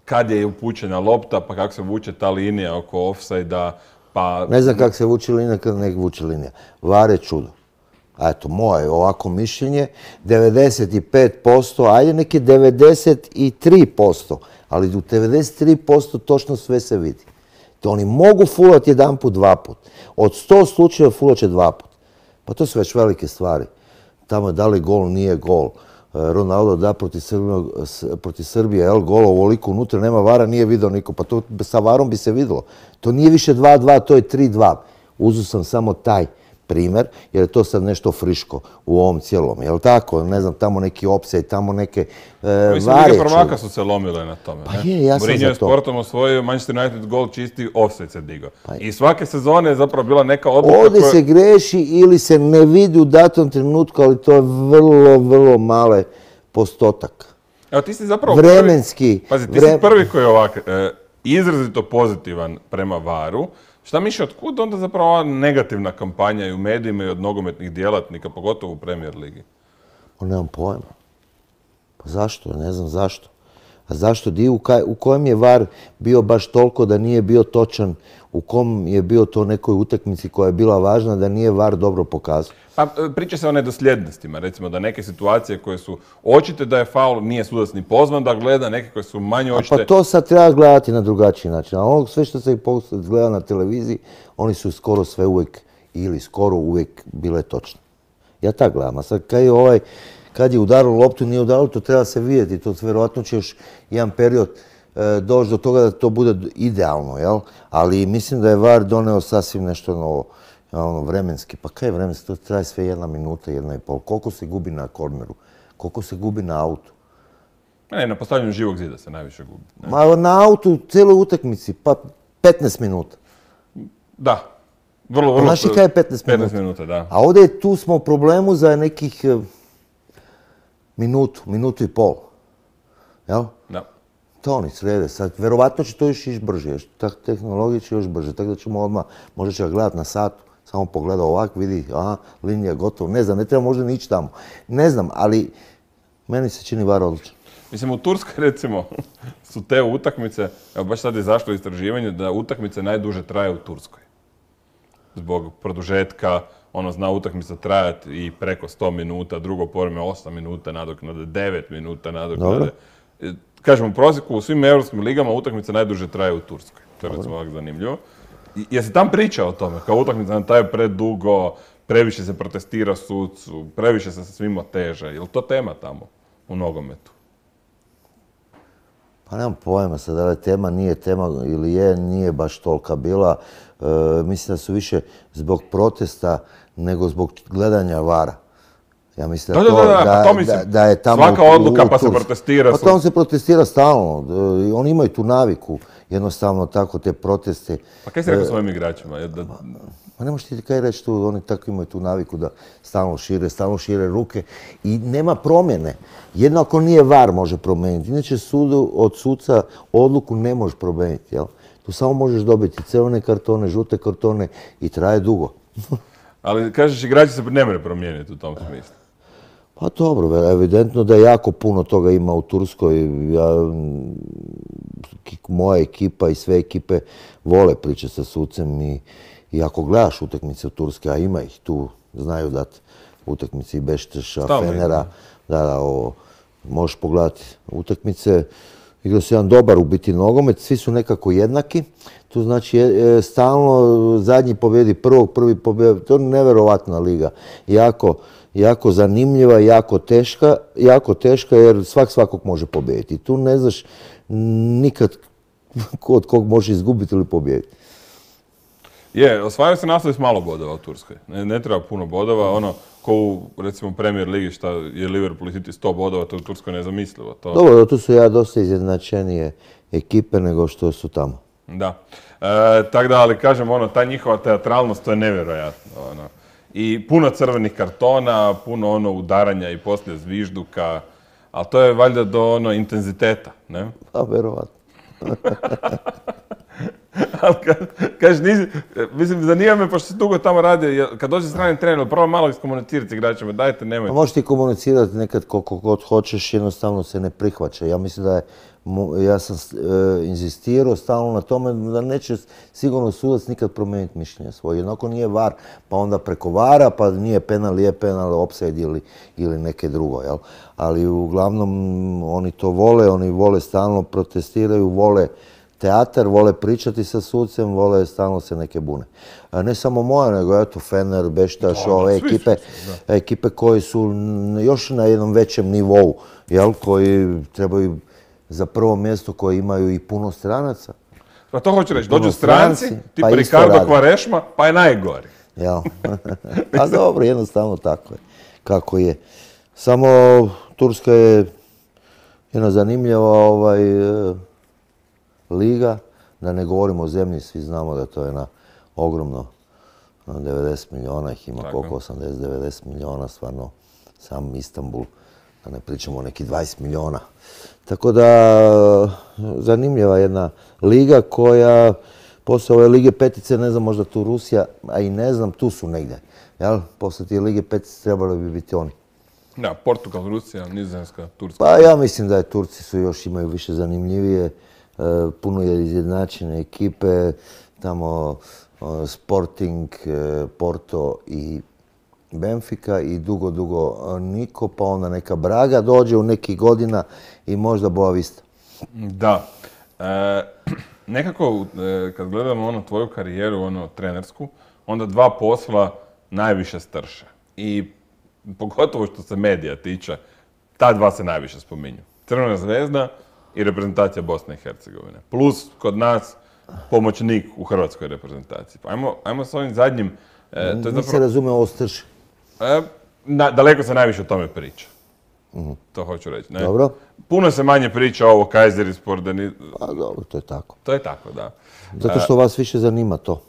kad je upućena lopta, pa kako se vuče ta linija oko ofsajda, pa... Ne znam kako se vuče linija, kad ne vuče linija. VAR je čudo. A eto, moje ovako mišljenje, 95%, ajde neki 93%, ali u 93% točno sve se vidi. To oni mogu fulati jedan put, 2 put. Od 100 slučajeva fulat će 2 put. Pa to su već velike stvari. Tamo je da li gol, nije gol. Ronaldo da protiv Srbije, gol ovoliko unutra, nema vara, nije vidio niko. Pa to sa varom bi se vidjelo. To nije više 2-2, to je 3-2. Uzeo sam samo taj primjer, jer je to sad nešto friško u ovom cijelom. Jel tako? Ne znam, tamo neki opsej, tamo neke vari. Mislim, Lige prvaka su se lomile na tome. Pa je, ja sam za to. Mourinho je Sportom osvojio, Manchester United gol čisti, offside se digao. I svake sezone je zapravo bila neka odluka ovdje se greši ili se ne vidi u datom trenutku, ali to je vrlo, vrlo male postotak. Evo, ti si zapravo vremenski. Pazi, ti si prvi koji je ovak izrazito pozitivan prema VAR-u. Šta misliš, otkud onda zapravo ova negativna kampanja i u medijima i od nogometnih djelatnika, pogotovo u Premier Ligi? Pa nemam pojma. Pa zašto? Ne znam zašto. A zašto? U kojem je VAR bio baš toliko da nije bio točan, u kom je bio to nekoj utakmici koja je bila važna da nije VAR dobro pokazao? Pa priča se o nedosljednostima, recimo da neke situacije koje su očite da je faul, nije sudac ni pozvan da gleda, neke koje su manje očite. Pa to sad treba gledati na drugačiji način. A ono sve što se gleda na televiziji, oni su skoro sve uvijek, ili skoro uvijek bile točne. Ja tako gledam. A sad kad je udarilo loptu, nije udarilo, to treba se vidjeti. To vjerojatno će još jedan period doći do toga da to bude idealno, jel? Ali mislim da je VAR doneo sasvim nešto novo. Vremenski, pa kaj je vremenski, to traje sve 1 minuta, 1,5. Koliko se gubi na korneru? Koliko se gubi na autu? Ne, na postavljanju živog zida se najviše gubi. Ne? Ma na autu, cijeloj utakmici, pa 15 minuta. Da, vrlo... Znaš i kaj je 15 minuta? 15 minuta, da. A ovdje tu smo u problemu za nekih minutu i pol. Jel? Da. To oni srede. Sad, verovatno će to još ići brže. Tehnologija će još brže. Tako da ćemo odmah, možda će ga gledati na satu. Samo pogleda ovak, vidi, aha, linija je gotova. Ne znam, ne treba možda ni ići tamo. Ne znam, ali meni se čini VAR odličan. Mislim, u Turskoj, recimo, su te utakmice, evo baš sad je zašlo istraživanje, da utakmice najduže traje u Turskoj. zbog produžetka, zna utakmica trajati i preko 100 minuta, drugo polovreme 8 minuta nadoknade, 9 minuta nadoknade. Kažemo, u prosjeku u svim europskim ligama utakmica najduže traje u Turskoj. To je recimo ovako zanimljivo. Je se tam priča o tome, kao utakmica nam traje predugo, previše se protestira sucu, previše se svima oteže. Je li to tema tamo u nogometu? Pa nemam pojma sad, da li tema nije tema ili nije baš tolika bila. Mislim da su više zbog protesta nego zbog gledanja VAR-a. Ja mislim da je tamo svaka odluka pa se protestira. Pa tamo se protestira stalno. Oni imaju tu naviku, jednostavno tako te proteste. Pa kaj si rekao svojim igračima? Pa ne možeš ti kaj reći tu, oni tako imaju tu naviku da stalno šire ruke i nema promjene. Jedno ako nije VAR može promijeniti. Inače od suca odluku ne možeš promijeniti. Tu samo možeš dobiti crvene kartone, žute kartone i traje dugo. Ali kažeš, igrači se ne može promijeniti u tom smislu. Pa dobro, evidentno da jako puno toga ima u Turskoj. Moja ekipa i sve ekipe vole pričati sa sucem i ako gledaš utakmice u Turske, a ima ih tu, znaju dati utakmice i Bešteša, Fenera, možeš pogledati utakmice. Igrao se jedan dobar u biti nogomet, svi su nekako jednaki. Tu znači stalno zadnji pobjedi prvog, prvi pobjedi. To je neverovatna liga. Jako zanimljiva, jako teška jer svakog može pobijediti. Tu ne znaš nikad od kog može izgubiti ili pobijediti. Osvajaju se nastavi s malo bodova u Turskoj. Ne treba puno bodova. Ko u, recimo, Premier ligi šta je Liverpool i City 100 bodova, to je u Turskoj nezamislivo. Dobro, tu su dosta izjednačenije ekipe nego što su tamo. Da. Tako da, ali kažem, ta njihova teatralnost, to je nevjerojatno. I puno crvenih kartona, puno udaranja i poslije zvižduka, ali to je valjda do intenziteta, ne? Pa, verovatno. Ali mislim, zanima me, pošto se dugo tamo radi, kad dođe strani trener, prvo malo iskomunicirati s igračima, dajte, nemojte. Možeš ti komunicirati nekad koliko god hoćeš, jednostavno se ne prihvaća. Ja mislim ja sam inzistirao stalno na tome da neće sigurno sudac nikad promijeniti mišljenje svoje. Jednako nije VAR, pa onda preko VAR-a, pa nije penal, offside ili neke drugo. Ali uglavnom oni to vole, oni vole stalno protestiraju, vole teatar, vole pričati sa sucem, vole stalno se neke bune. Ne samo moja, nego eto Fener, Beštaš, ove ekipe koje su još na jednom većem nivou, koji trebaju za prvo mjesto, koje imaju i puno stranaca. Pa to hoću reći, dođu stranci, tipa Ricardo Quaresma, pa je najgori. A dobro, jednostavno tako je, kako je. Samo Turska je jedna zanimljiva liga, da ne govorimo o zemlji, svi znamo da to je jedna ogromno 90 milijuna, ih ima koliko, 80-90 milijuna, stvarno sam Istanbul, da ne pričamo o neki 20 milijuna. Tako da, zanimljiva jedna liga koja, poslije ove Lige petice, ne znam, možda tu Rusija, a i ne znam, tu su negdje. Poslije te Lige petice trebali bi biti oni. Da, Portugal, Rusija, Nizozemska, Turska. Pa ja mislim da Turci su još imaju više zanimljivije, puno je izjednačene ekipe, tamo Sporting, Porto i Benfica i dugo niko, pa onda neka Braga dođe u nekih godina i možda Boavista. Da. Nekako, kad gledamo tvoju karijeru, trenersku, onda dva posla najviše strše. I pogotovo što se medija tiče, ta dva se najviše spominju. Crvena zvezda i reprezentacija Bosne i Hercegovine. Plus, kod nas, pomoćnik u hrvatskoj reprezentaciji. Pa ajmo s ovim zadnjim... Nisi razumio ovo strši. Daleko se najviše o tome priča. To hoću reći. Dobro. Puno se manje priča o ovo Kayserispor. Pa dobro, to je tako. To je tako, da. Zato što vas više zanima to.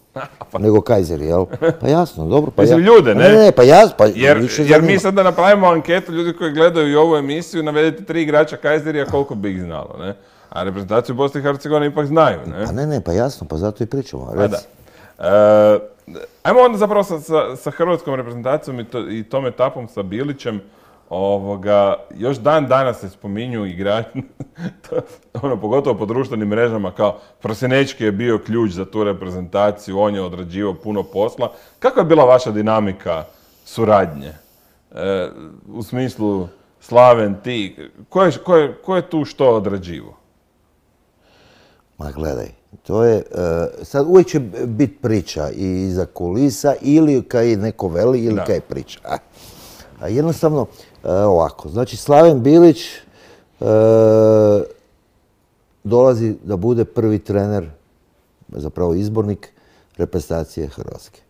Nego Kajzeri, jel? Pa jasno, dobro. Mislim, ljude, ne? Ne, pa jasno, Jer mi sad da napravimo anketu, ljudi koji gledaju i ovu emisiju, navedite 3 igrača Kajzerija, koliko bi ih znalo, ne? A reprezentaciju Bosne i Hercegovine ipak znaju, ne? Pa ne, pa jasno, pa zato i pričamo, reci. Ajmo onda zapravo sa hrvatskom reprezentacijom i tom etapom sa Bilićem. još dan danas se spominju igrači, pogotovo po društvenim mrežama, kao Prosinečki je bio ključ za tu reprezentaciju, on je odrađivao puno posla. Kakva je bila vaša dinamika suradnje? U smislu Slaven, ti, ko je tu što odrađivao? Ma gledaj, to je, sad uvijek će biti priča i iza kulisa ili kaj neko veli ili kaj priča. A jednostavno, ovako, znači Slaven Bilić dolazi da bude prvi trener, zapravo izbornik reprezentacije Hrvatske.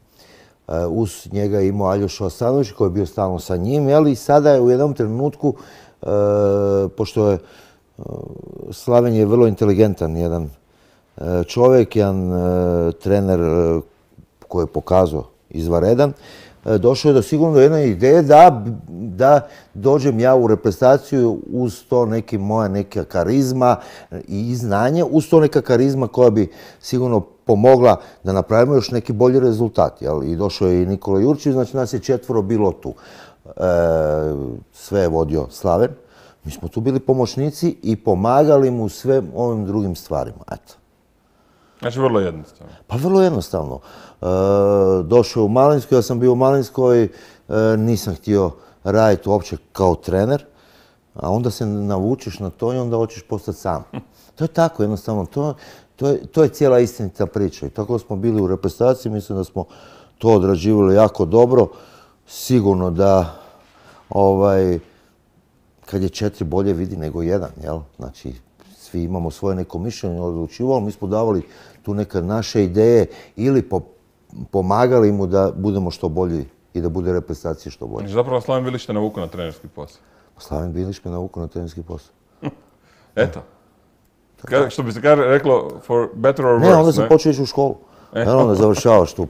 Uz njega je imao Aljoša Asanović koji je bio stalno sa njim, i sada je u jednom trenutku, pošto je Slaven je vrlo inteligentan jedan čovjek, jedan trener koji je pokazao izvanredan, došao je sigurno do jedne ideje da dođem ja u reprezentaciju uz to neka karizma i znanje, uz to neka karizma koja bi sigurno pomogla da napravimo još neki bolji rezultat. I došao je i Nikola Jurčić, znači nas je 4 bilo tu. Sve je vodio Slaven. Mi smo tu bili pomoćnici i pomagali mu sve ovim drugim stvarima. Eto. Znači vrlo jednostavno. Pa vrlo jednostavno. Došao u Malinskoj, ja sam bio u Malinskoj, nisam htio raditi uopće kao trener, a onda se navučeš na to i onda hoćeš postati sam. To je tako jednostavno, to je cijela istinita priča. I tako smo bili u reprezentaciji, mislim da smo to odrađivali jako dobro. Sigurno da kad je 4 bolje vidi nego 1, jel? Znači, svi imamo svoje neko mišljenje, odlučivalo, mi smo davali tu neke naše ideje ili pomagali mu da budemo što bolji i da bude reprezentacija što bolje. Znači, zapravo Slaven Bilić te navuku na trenerski posao. Slaven Bilić me navuku na trenerski posao. Eto. Što bi se reklo, for better or worse, ne? Onda sam počeo ići u školu. Onda završavaš tu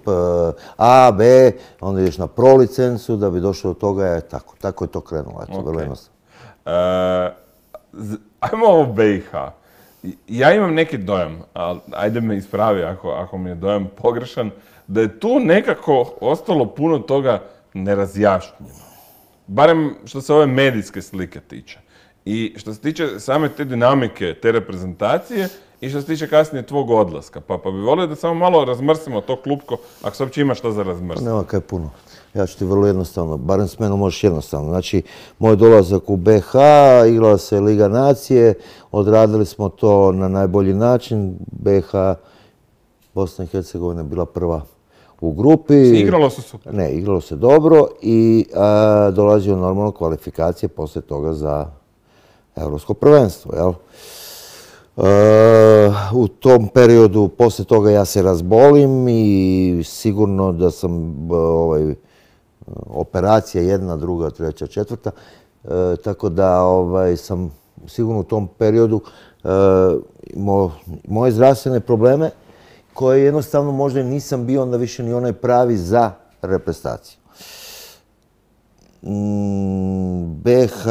A, B, onda ideš na pro licencu da bi došao do toga, tako je to krenulo. Vrlo jednostavno. Ajmo ovo BiH. Ja imam neki dojam, ali ajde me ispravi ako mi je dojam pogrešan, da je tu nekako ostalo puno toga nerazjašnjeno. Barem što se ove medijske slike tiče. I što se tiče same te dinamike, te reprezentacije i što se tiče kasnije tvog odlaska. Pa bi volio da samo malo razmrsimo to klupko, ako se uopće ima šta za razmrsiti. Nema kaj puno. Ja ću ti vrlo jednostavno, barem s menom možeš jednostavno. Znači, moj dolazak u BiH, igrala se Liga nacije, odradili smo to na najbolji način. BiH, Bosna i Hercegovina je bila prva u grupi. Igralo se super. Ne, igralo se dobro i dolazio normalno kvalifikacije poslije toga za Europsko prvenstvo, jel? U tom periodu, poslije toga ja se razbolim i sigurno da sam operacija 1, 2, 3, 4, tako da sam sigurno u tom periodu imao moje zdravstvene probleme koje jednostavno možda nisam bio onda više ni onaj pravi za reprezentaciju. BiH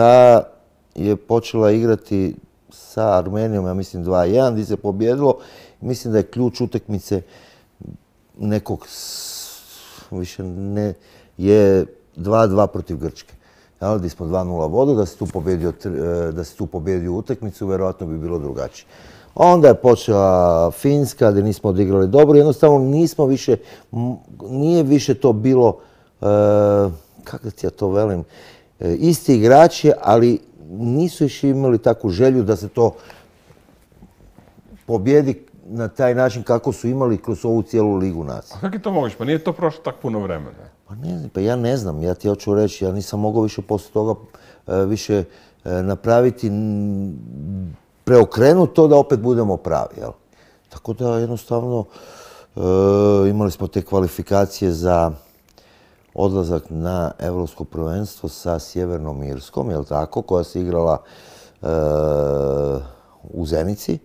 je počela igrati sa Armenijom, ja mislim 2-1, gdje se pobjedilo. Mislim da je ključ utakmice nekog više ne je 2-2 protiv Grčke. Gdje smo 2-0 vodu, da se tu pobjedio utakmicu, vjerojatno bi bilo drugačije. Onda je počela Finska, gdje nismo odigrali dobro. Jednostavno nismo više, nije više to bilo, kako ti ja to velim, isti igrači, ali nisu još imali takvu želju da se to pobjedi na taj način kako su imali kroz ovu cijelu Ligu nacija. A kako je to moguće? Pa nije to prošlo tako puno vremena. Pa ja ne znam, ja ti hoću reći, ja nisam mogao više poslije toga više napraviti, preokrenuti to da opet budemo pravi, jel? Tako da jednostavno imali smo te kvalifikacije za odlazak na Europsko prvenstvo sa Sjevernom Irskom, jel tako, koja se igrala u Zenici.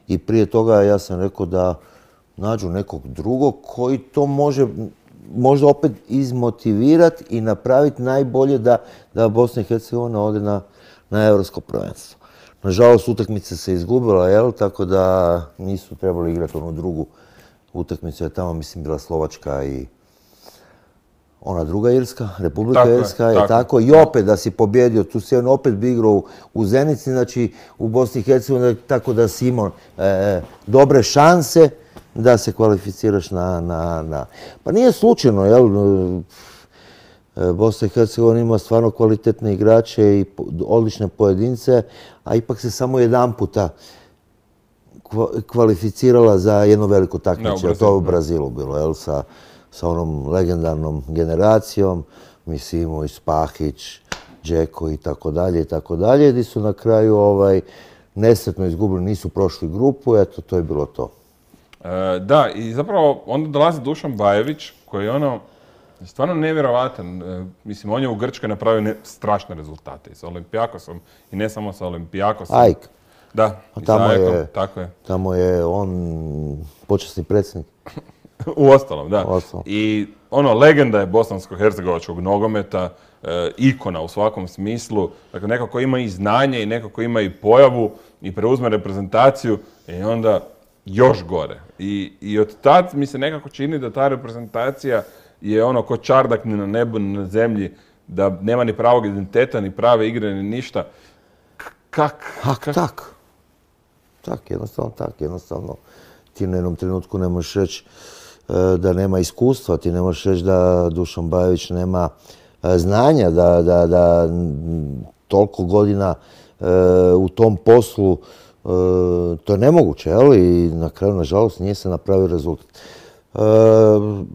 I prije toga ja sam rekao da nađu nekog drugog koji to može možda opet izmotivirati i napraviti najbolje da Bosna i Hercegovina ode na Europsko prvenstvo. Nažalost, utakmica se izgubila, jel, tako da nisu trebali igrati onu drugu utakmicu, jer tamo mislim bila Slovačka i ona druga Irska, Republika Tako je, Irska, je tako. tako. I opet da si pobjedio, tu si on opet bi igrao u Zenici, znači u Bosni i Hercegovini, tako da si imao dobre šanse da se kvalificiraš na... Pa nije slučajno, jel? Bosna i Hercegovina ima stvarno kvalitetne igrače i odlične pojedince, a ipak se samo jedan puta kvalificirala za jedno veliko takmičenje. To je u Brazilu bilo, jel? Sa onom legendarnom generacijom, mislim, i Spahić, Džeko i tako dalje, gdje su na kraju nesretno izgubili, nisu prošli grupu, eto, to je bilo to. Da, i zapravo onda dolazi Dušan Bajević, koji je stvarno nevjerovatan. Mislim, on je u Grčkoj napravio strašne rezultate i sa Olimpijakosom i ne samo sa Olimpijakosom. AEK. Da, i sa AEK-om, tako je. Tamo je on počasni predsjednik. Uostalom, da. I legenda je bosansko-hercegovačkog nogometa, ikona u svakom smislu. Dakle, neko ko ima i znanje i neko ko ima i pojavu i preuzme reprezentaciju i onda još gore. I od tad mi se nekako čini da ta reprezentacija je ko čardak ni na nebu, ni na zemlji, da nema ni pravog identiteta, ni prave igre, ni ništa. Jednostavno. Ti na jednom trenutku ne možeš reći da nema iskustva, ti ne možeš reći da Dušan Bajević nema znanja, da toliko godina u tom poslu, to je nemoguće, jel? I na kraju, nažalost, nije se napravio rezultat.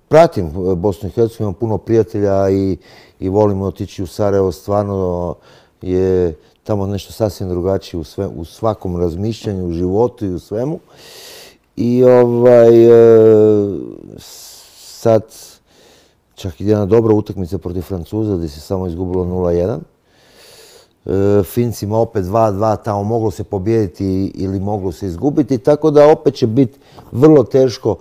Pratim Bosnu i Hercegovinu, imam puno prijatelja i volim otići u Sarajevo, stvarno je tamo nešto sasvim drugačije u svakom razmišljanju, u životu i u svemu. I sad čak ide jedna dobra utakmica protiv Francuza gdje se samo izgubilo 0-1. Fincima opet 2-2, tamo moglo se pobijediti ili moglo se izgubiti, tako da opet će biti vrlo teško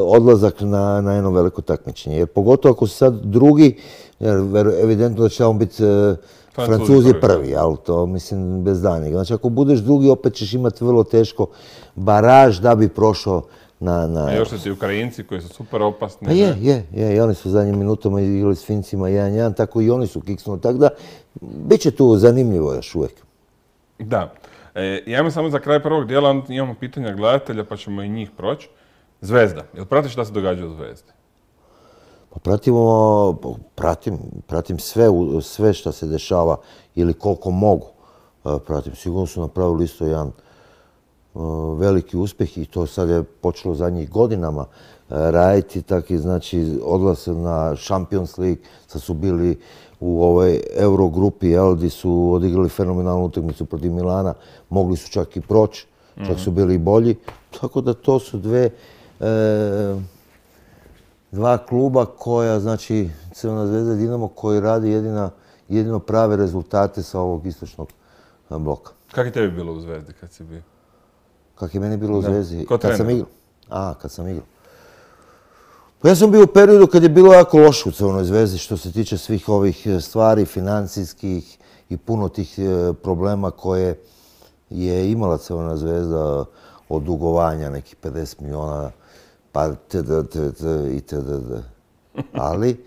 odlazak na jedno veliko takmičenje. Jer pogotovo ako su sad drugi, evidentno da će tamo biti Francuzi prvi, ali to mislim bez daljnjega. Znači ako budeš drugi opet ćeš imati vrlo teško baraž da bi prošao na... A još su ti Ukrajinci koji su super opasni. Pa je, i oni su u zadnjim minutama igrali s Fincima 1-1, tako i oni su kiksnuli, tako da bit će tu zanimljivo još uvijek. Da. Ja imam samo za kraj prvog dijela, onda imamo pitanja gledatelja pa ćemo i njih proći. Zvezda. Jel pratiš šta se događa u Zvezdi? Pa pratim sve što se dešava ili koliko mogu. Pratim, sigurno su napravili isto jedan veliki uspjeh i to sad je počelo zadnjih godinama raditi, tako znači odlazak na Champions League, sad su bili u ovoj Eurogrupi, gdje su odigrali fenomenalnu utakmicu protiv Milana, mogli su čak i proći, čak su bili i bolji, tako da to su dva kluba koja, znači Crvena Zvezda i Dinamo, koji radi jedino prave rezultate sa ovog istočnog bloka. Kako je tebi bilo u Zvezdi kad si bio? Kako je meni bilo u Zvezdi? Ko trener? Kad sam igrao. Kad sam igrao. Pa ja sam bio u periodu kad je bilo jako loše u Crvenoj Zvezdi što se tiče svih ovih stvari, financijskih i puno tih problema koje je imala Crvena Zvezda od dugovanja, nekih 50 miliona, pa itd. Ali,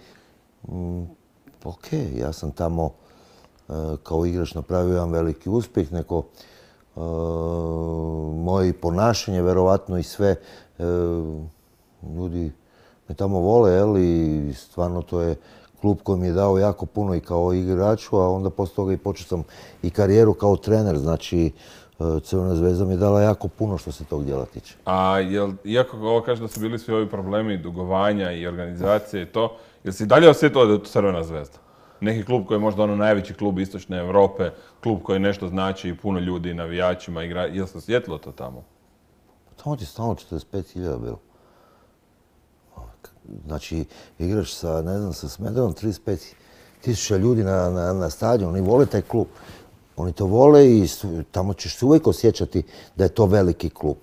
okej, ja sam tamo kao igrač napravio jedan veliki uspjeh, neko moje ponašanje, verovatno i sve, ljudi me tamo vole, i stvarno to je klub koji mi je dao jako puno i kao igraču, a onda posle toga i počeo sam i karijeru kao trener, znači Crvena Zvezda mi je dala jako puno što se tog dijela tiče. A iako ovo kaže da su bili svi ovi problemi dugovanja i organizacije i to, jel si dalje osjetila da je to Crvena Zvezda? Neki klub koji je možda najveći klub Istočne Europe, klub koji nešto znači i puno ljudi i navijačima igra, jel se osjetilo to tamo? Tamo ti je stalno 45.000 bilo. Znači, igraš sa, ne znam, sa Smederevom 35.000 ljudi na stadionu, oni vole taj klub. Oni to vole i tamo ćeš se uvijek osjećati da je to veliki klub.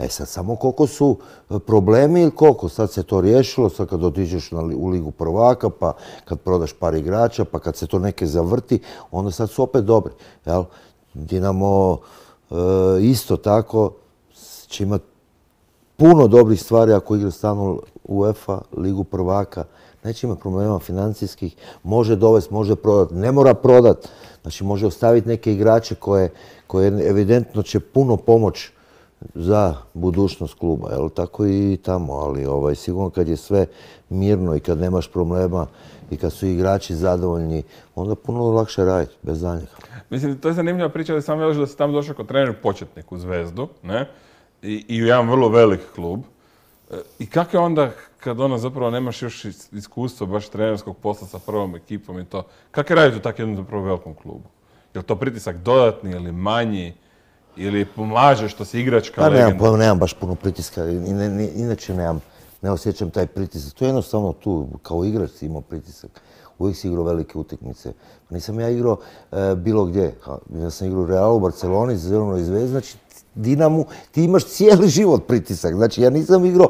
Sad samo koliko su problemi ili koliko. Sad se to riješilo, sad kad otiđeš u Ligu prvaka, pa kad prodaš par igrača, pa kad se to neke zavrti, onda sad su opet dobri. Dinamo isto tako će imati puno dobrih stvari ako igra stalno UEFA, Ligu prvaka. neće imati problema financijskih, može dovesti, može prodati, ne mora prodati. Znači može ostaviti neke igrače koje evidentno će puno pomoći za budućnost kluba, jel? Tako i tamo, ali sigurno kad je sve mirno i kad nemaš problema i kad su igrači zadovoljni, onda puno lakše raditi, bez daljnjega. Mislim, to je zanimljiva priča da sam veliš da si tamo došao kao trener početnik u Zvezdu, ne? I u jedan vrlo velik klub. I kako je onda, kad zapravo nemaš još iskustva baš trenerskog posla sa prvom ekipom i to, kako je raditi u tako jednom zapravo velikom klubu? Je li to pritisak dodatni ili manji? Ili pomaže što si igračka legenda? Pa nemam baš puno pritiska, inače ne osjećam taj pritisak. To je jednostavno tu, kao igrač si imao pritisak. Uvijek si igrao velike utakmice. Nisam ja igrao bilo gdje. Ja sam igrao u Realu, Barceloni, Zelenoj Zvezdi, znači Dinamu, ti imaš cijeli život pritisak. Znači ja nisam igrao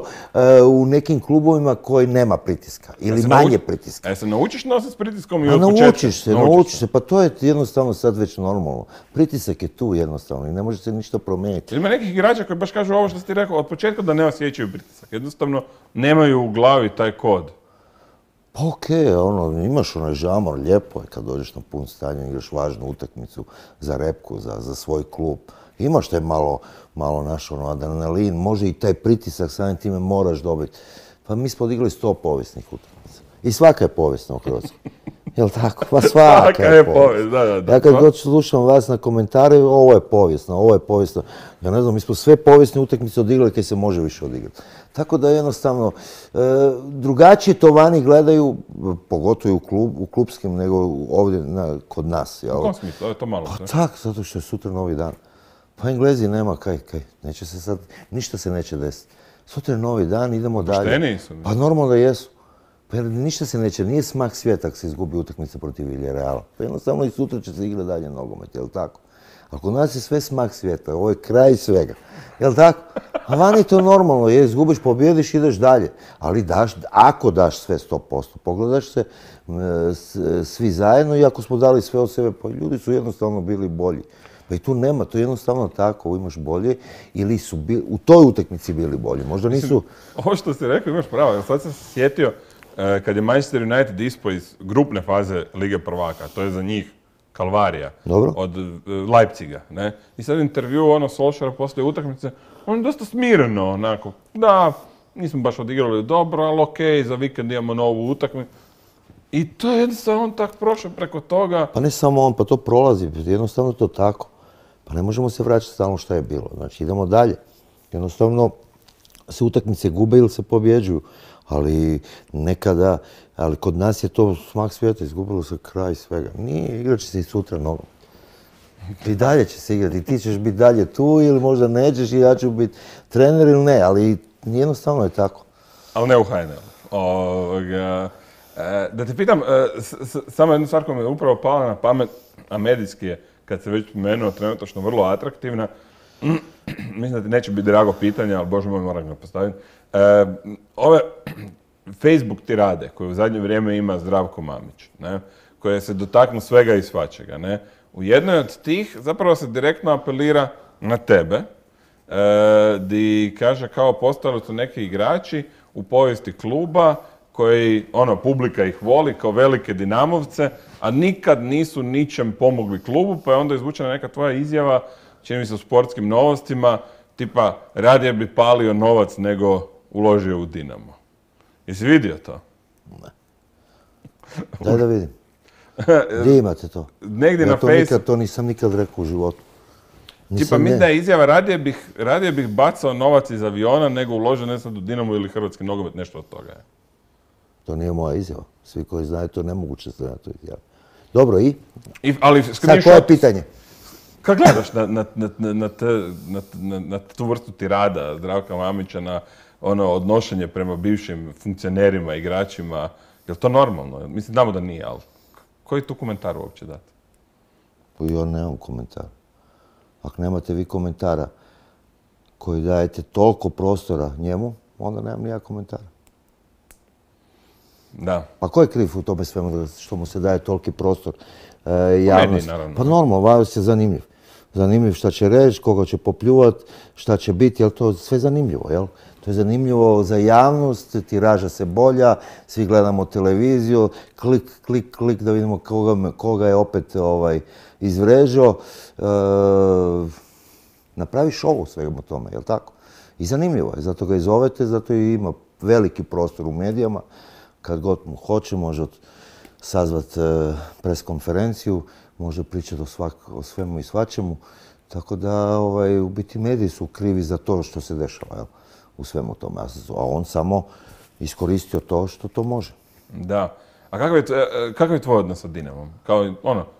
u nekim klubovima koji nema pritiska ili manje pritiska. Se naučiš nositi s pritiskom i od početka? Naučiš se, pa to je jednostavno sad već normalno. Pritisak je tu jednostavno i ne može se ništa promijeniti. Ima nekih igrača koji baš kažu ovo što si ti rekao, od početka da ne osjećaju pritisak. Jednostavno nemaju u glavi taj kod. Pa okej, imaš onaj žamor, lijepo je kad dođeš na pun stadion, igraš važnu utakmicu za repku, za svoj klub. Imaš taj malo naš adrenalin, može i taj pritisak, samim time moraš dobiti. Pa mi smo odigrali 100 povijesnih utakmica. I svaka je povijesna u Hrvatskoj. Jel' tako? Pa svaka je povijesna. Ja kad god slušam vas na komentare, ovo je povijesno. Ja ne znam, mi smo sve povijesne utakmice odigrali kad se može više odigrati. Tako da jednostavno, drugačije to vani gledaju, pogotovo u klubskim, nego ovdje kod nas. U kom smislu? To malo. Pa tako, zato što je sutra novi dan. Pa Englezi nema kaj, neće se sad, ništa se neće desiti. Sutra je novi dan, idemo dalje. Pošteni su. Pa normalno da jesu. Pa ništa se neće, nije smak svijeta ako se izgubi utakmica protiv Villarreala. Pa jednostavno i sutra će se igrati dalje nogomet, jel' tako? A kod nas je sve smak svijeta, ovo je kraj svega, jel' tako? A vani je to normalno, izgubiš, pobjediš, ideš dalje. Ali ako daš sve 100%, pogledaš se svi zajedno i ako smo dali sve od sebe, pa ljudi su jednostavno bili bolji. Pa i tu nema, to je jednostavno tako, imaš bolje ili su u toj utakmici bili bolji, možda nisu... Ovo što si rekao imaš pravo, sad sam se sjetio kad je Manchester United ispao iz grupne faze Lige prvaka, to je za njih kalvarija od Leipziga, ne? I sad intervju Solskjaera poslije utakmice, on je dosta smireno, onako, da, nismo baš odigrali dobro, ali okej, za vikend imamo novu utakmicu. I to je jednostavno on tak prošao preko toga. Pa ne samo on, pa to prolazi, jednostavno to tako. Pa ne možemo se vraćati stalno što je bilo. Znači, idemo dalje. Jednostavno se utakmice gube ili se pobjeđuju. Ali nekada, ali kod nas je to smak svijeta, izgubilo se kraj svega. Nije, igrat će se i sutra nogomet. I dalje će se igrati. Ti ćeš biti dalje tu ili možda nećeš i ja ću biti trener ili ne, ali jednostavno je tako. Ali ne u HNL. Da te pitam, samo jednu stvar koja mi je upravo pala na pamet, a medijski je, kad se već spomenuo, trenutačno vrlo atraktivna. Mislim da ti neće biti drago pitanje, ali Bože moj, moram ga postaviti. Ove Facebook tirade koje u zadnje vrijeme ima Zdravko Mamić, ne, koje se dotaknu svega i svačega, ne, u jednoj od tih zapravo se direktno apelira na tebe, di kaže kao postali su neki igrači u povijesti kluba koji, publika ih voli kao velike dinamovce, a nikad nisu ničem pomogli klubu, pa je onda izvučena neka tvoja izjava, čini mi se u sportskim novostima, tipa, radije bi palio novac nego uložio u Dinamo. Jesi vidio to? Ne. Daj da vidim. Gdje imate to? Negdje na Facebooku. To nisam nikad rekao u životu. Tipa, mislim da je izjava, radije bih bacao novac iz aviona nego uložio ne sad u Dinamo ili hrvatski nogomet, nešto od toga je. To nije moja izjava. Svi koji znaju to nemoguće se na to izjavi. Dobro, i? Sad, koje je pitanje? Kako gledaš na tu vrstu tirada Zdravka Mamića, na odnošenje prema bivšim funkcionerima, igračima? Je li to normalno? Mislim, znamo da nije, ali koji tu komentar uopće dati? Pa ja nemam komentara. Ako nemate vi komentara koji dajete toliko prostora njemu, onda nemam nijak komentara. Da. Pa ko je kriv u tome svemu što mu se daje toliki prostor javnosti? Naravno. Pa normalno, vas je zanimljiv. Zanimljiv šta će reći, koga će popljuvat, šta će biti, jel to sve zanimljivo, jel? To je zanimljivo za javnost, tiraža se bolja, svi gledamo televiziju, klik da vidimo koga je opet izvrežao. Napravi show u svemu tome, jel tako? I zanimljivo je, zato ga i zovete, zato i ima veliki prostor u medijama. Kad god mu hoće, može sazvati pres konferenciju, može pričati o svemu i svačemu. Tako da, u biti, mediji su krivi za to što se dešava, jel? U svemu tome. A on samo iskoristio to što to može. Da. A kakav je tvoj odnos sa Dinamom?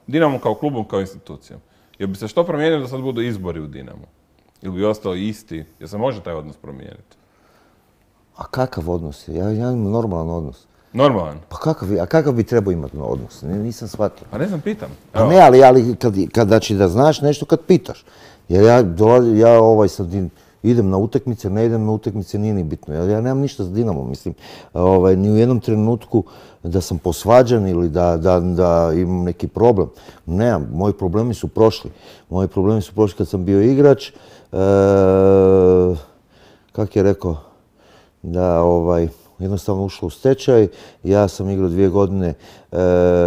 Dinamom kao klubom, kao institucijom. Jel bi se što promijenilo da sad budu izbori u Dinamu? Ili bi ostao isti? Jel se može taj odnos promijeniti? A kakav odnos je? Ja imam normalan odnos. Normalan? Pa kakav bi trebao imati odnos? Nisam shvatio. Pa ne znam, pitam. Pa ne, ali znači da znaš nešto kad pitaš. Jer ja sad idem na utakmice, ne idem na utakmice, nije ni bitno. Ja nemam ništa s Dinamom, mislim. Ni u jednom trenutku da sam posvađan ili da imam neki problem. Nemam, moji problemi su prošli. Moji problemi su prošli kad sam bio igrač. Kak je rekao? Da jednostavno ušlo u stečaj. Ja sam igrao 2 godine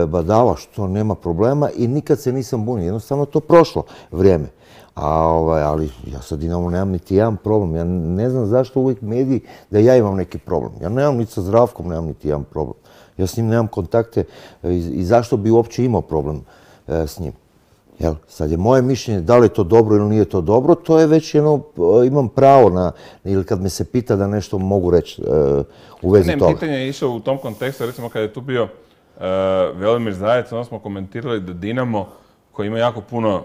badava, što nema problema i nikad se nisam bunio. Jednostavno to prošlo vrijeme. Ali ja sa Dinamom nemam niti jedan problem. Ja ne znam zašto uvijek mediji da ja imam neki problem. Ja nemam niti sa Zdravkom, nemam niti jedan problem. Ja s njim nemam kontakte i zašto bi uopće imao problem s njim. Sad je moje mišljenje da li je to dobro ili nije to dobro, to je već imam pravo ili kad me se pita da nešto mogu reći u vezi toga. Pitanje je išao u tom kontekstu, recimo kada je tu bio Velimir Zajec, onda smo komentirali da Dinamo, koji ima jako puno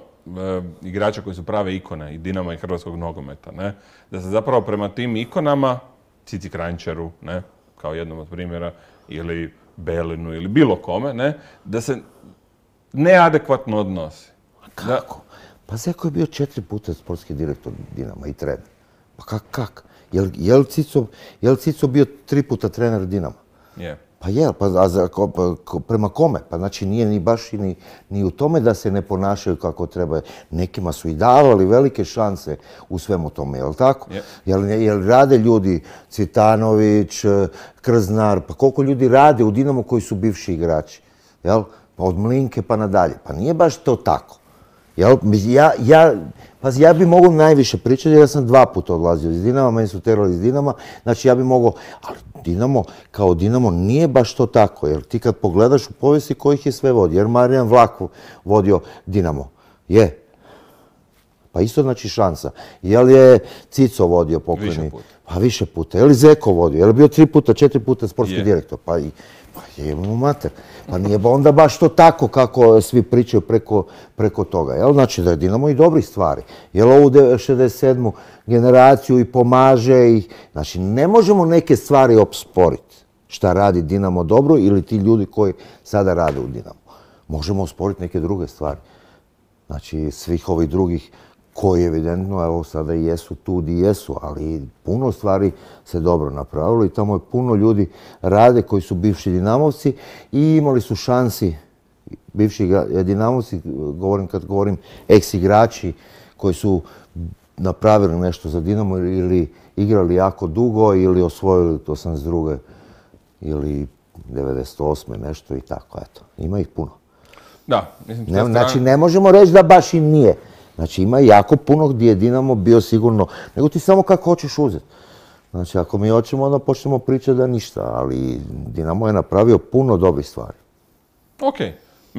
igrača koji su prave ikone i Dinama i hrvatskog nogometa, ne? Da se zapravo prema tim ikonama, Cici Kranjčaru, ne? Kao jednom od primjera, ili Belinu ili bilo kome, ne? Da se neadekvatno odnosi. Kako? Pa Zeko je bio 4 puta sportski direktor Dinama i trener. Pa kak? Je li Cico bio 3 puta trener Dinama? Je. Pa je, prema kome? Pa znači nije ni baš ni u tome da se ne ponašaju kako treba. Nekima su i davali velike šanse u svemu tome, je li tako? Jel rade ljudi, Cvitanović, Krznar, pa koliko ljudi rade u Dinamu koji su bivši igrači? Jel? Od Mlinke pa nadalje. Pa nije baš to tako. Ja bi mogao najviše pričati jer ja sam 2 puta odlazio iz Dinama, meni su terali iz Dinama, znači ja bi mogao, ali Dinamo kao Dinamo nije baš to tako, jer ti kad pogledaš u povijesti kojih je sve vodio, jer Marijan Vlak vodio Dinamo, je. Pa isto znači šansa. Je li je Cico vodio pokojni? Više puta. Pa više puta. Je li Zeko vodio? Je li bio 3 puta, 4 puta sportski direktor? Pa jebamo mater. Pa nije onda baš to tako kako svi pričaju preko toga. Znači da je Dinamo i dobrih stvari. Jel ovu 67. generaciju i pomaže. Znači ne možemo neke stvari opsporiti šta radi Dinamo dobro ili ti ljudi koji sada rade u Dinamo. Možemo osporiti neke druge stvari. Znači svih ovih drugih koji evidentno, evo sada i jesu tu di jesu, ali puno stvari se dobro napravilo i tamo je puno ljudi rade koji su bivši Dinamovci i imali su šansi, bivši Dinamovci, kad govorim ex-igrači koji su napravili nešto za Dinamo ili igrali jako dugo ili osvojili 82. ili 98. nešto i tako, eto. Ima ih puno. Da, mislim znači ne možemo reći da baš i nije. Znači ima jako puno gdje je Dinamo bio sigurno, nego ti samo kako hoćeš uzeti. Znači ako mi hoćemo onda počnemo pričati da ništa, ali Dinamo je napravio puno dobrih stvari. Okej.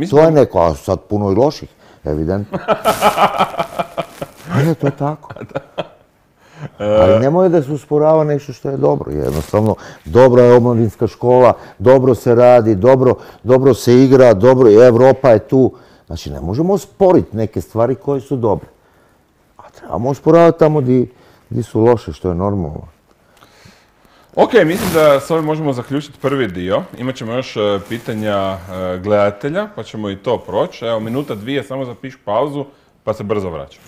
To je neko, a sad puno i loših, evidentno. Je to tako. Ali nemoj da se usporava nešto što je dobro. Jednostavno, dobra je omladinska škola, dobro se radi, dobro se igra, dobro i Evropa je tu. Znači, ne možemo osporiti neke stvari koje su dobre. A trebamo osporavati tamo gdje su loše, što je normalno. Ok, mislim da s ovim možemo zaključiti prvi dio. Imat ćemo još pitanja gledatelja, pa ćemo i to proći. Evo, minuta, 2, samo zapiš pauzu, pa se brzo vraćamo.